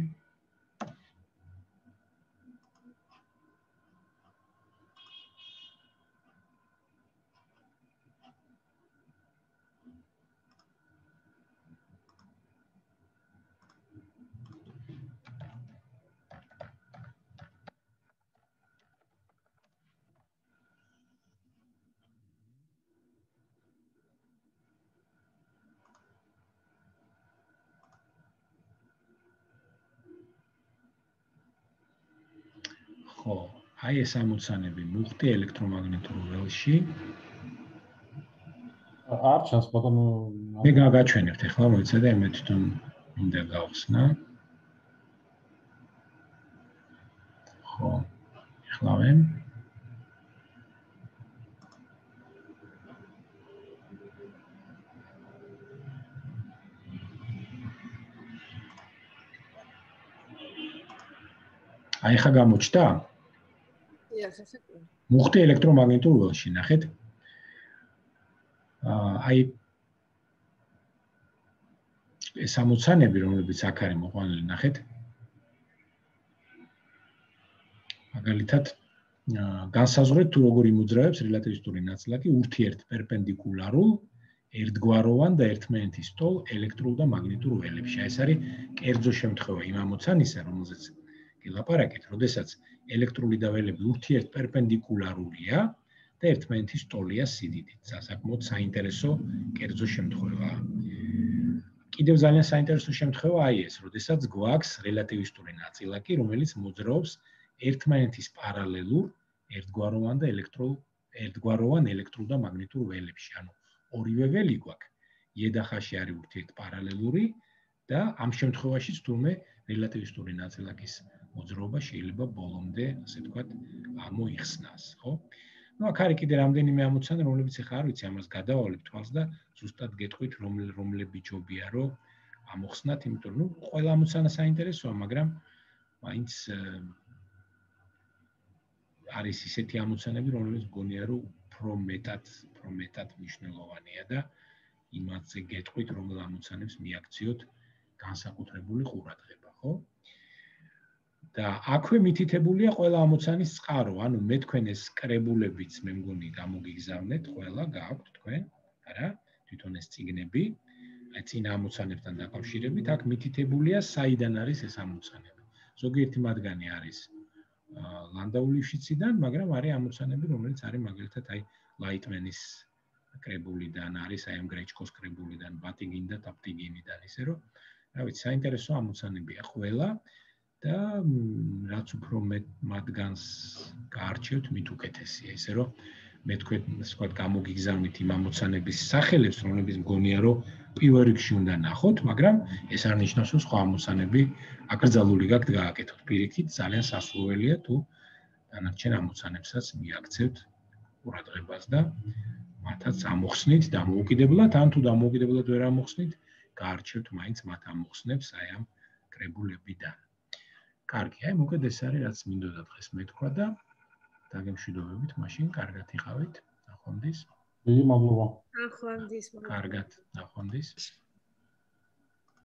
ხო, აი ეს ამოცანები მუხტი ელექტრომაგნიტურ ველში. არ ჩანს ბატონო. მე გაგაჩვენებთ ახლა, მოიცადე, მე თვითონ მინდა გავხსნა. ხო, ახლავე. აი ხა გამოჩნდა? მუხტი ელექტრომაგნიტურ ველში, ნახეთ? აი ეს ამოცანები, რომლებიც აქ არის მოყვანილი, ნახეთ? მაგალითად, განსაზღვრეთ თუ როგორ იმოძრავებს რელატივისტური ნაწილაკი ურთიერთ პერპენდიკულარულ, ერთგვაროვან და ერთმანეთის ტოლ ელექტრულ და მაგნიტურ ველებში. ეს არის კერძო შემთხვევა იმ ამოცანისა, რომელზეც გილაპარაკეთ, როდესაც ელექტრული და ველები ურთიერთ პერპენდიკულარულია და ერთმანეთის ტოლია სიდიდით. საკმაოდ საინტერესო კერძო შემთხვევაა. კიდევ ძალიან საინტერესო შემთხვევა აი ეს, როდესაც გვაქვს რელატივისტური ნაწილაკი, რომელიც მოძრაობს ერთმანეთის პარალელურ ერთგვაროვან ელექტრულ და მაგნიტურ ველებში. ანუ ორივე ველი გვაქვს. იედახაში არის ურთიერთპარალელური და ამ შემთხვევაშიც თურმე რელატივისტური ნაწილაკის მოძრაობა შეიძლება ბოლომდე, ასე ვთქვათ, მოიხსნას, ხო? Ну, აქ არის კიდე რამდენიმე ამოცანა, რომლებიც ახლა არ ვიცი, ამას გადავალებ თვალს და ზუსტად გეტყვით, რომლები ჯობია, რომ ამოხსნათ, იმიტომ რომ ყველა ამოცანა საინტერესოა, მაგრამ მაინც არის ისეთი ამოცანები, რომლებიც მგონია, რომ უფრო მეტად მნიშვნელოვანია და იმაზე გეტყვით, რომელ ამოცანებს მიაქციოთ განსაკუთრებული ყურადღება, ხო? და აქვე მითითებულია ყველა ამოცანის წყარო, ანუ მე თქვენ ეს კრებულებიც მე მგონი გამოგიგზავნეთ, ყველა გააქვთ თქვენ, არა? თვითონ ეს წიგნები, აი წინა ამოცანებთან დაკავშირებით, აქ მითითებულია საიდან არის ეს ამოცანები. ზოგიერთი მათგანი არის ლანდაუ-ლიფშიციდან, მაგრამ არის ამოცანები, რომელიც არის მაგალითად აი ლაიტმენის კრებულიდან, არის აი ამ გრეჩკოს კრებულიდან, ბატიგინ და ტაპტიგინიდან, ისე რომ, რა ვიცი, საინტერესო ამოცანებია ყველა და რაც უფრო მეტ მათგანს გაარჩევთ, მით უკეთესია, ისე რომ მე თქვენ ვთქვათ გამოგიგზავნით იმ ამოცანების სახელებს, რომლებიც მგონია, რომ პირველ რიგში უნდა ნახოთ, მაგრამ ეს არ ნიშნავს, რომ სხვა ამოცანები აკრძალული გაქვთ გააკეთოთ. პირიქით, ძალიან სასურველია თუ დანარჩენ ამოცანებსაც მიაქცევთ ყურადღებას და მათაც ამოხსნით დამოუკიდებლად, ან თუ დამოუკიდებლად ვერ ამოხსნით, გაარჩევთ მაინც მათ ამოხსნებს აი ამ კრებულებიდან. კარგი, აი მოკედ ეს არის რაც მინდოდა დღეს მეთქვა და დაგემშვიდობებით, მაშინ კარგად იყავით. ნახვამდის. დიდი მადლობა. ნახვამდის. კარგად, ნახვამდის.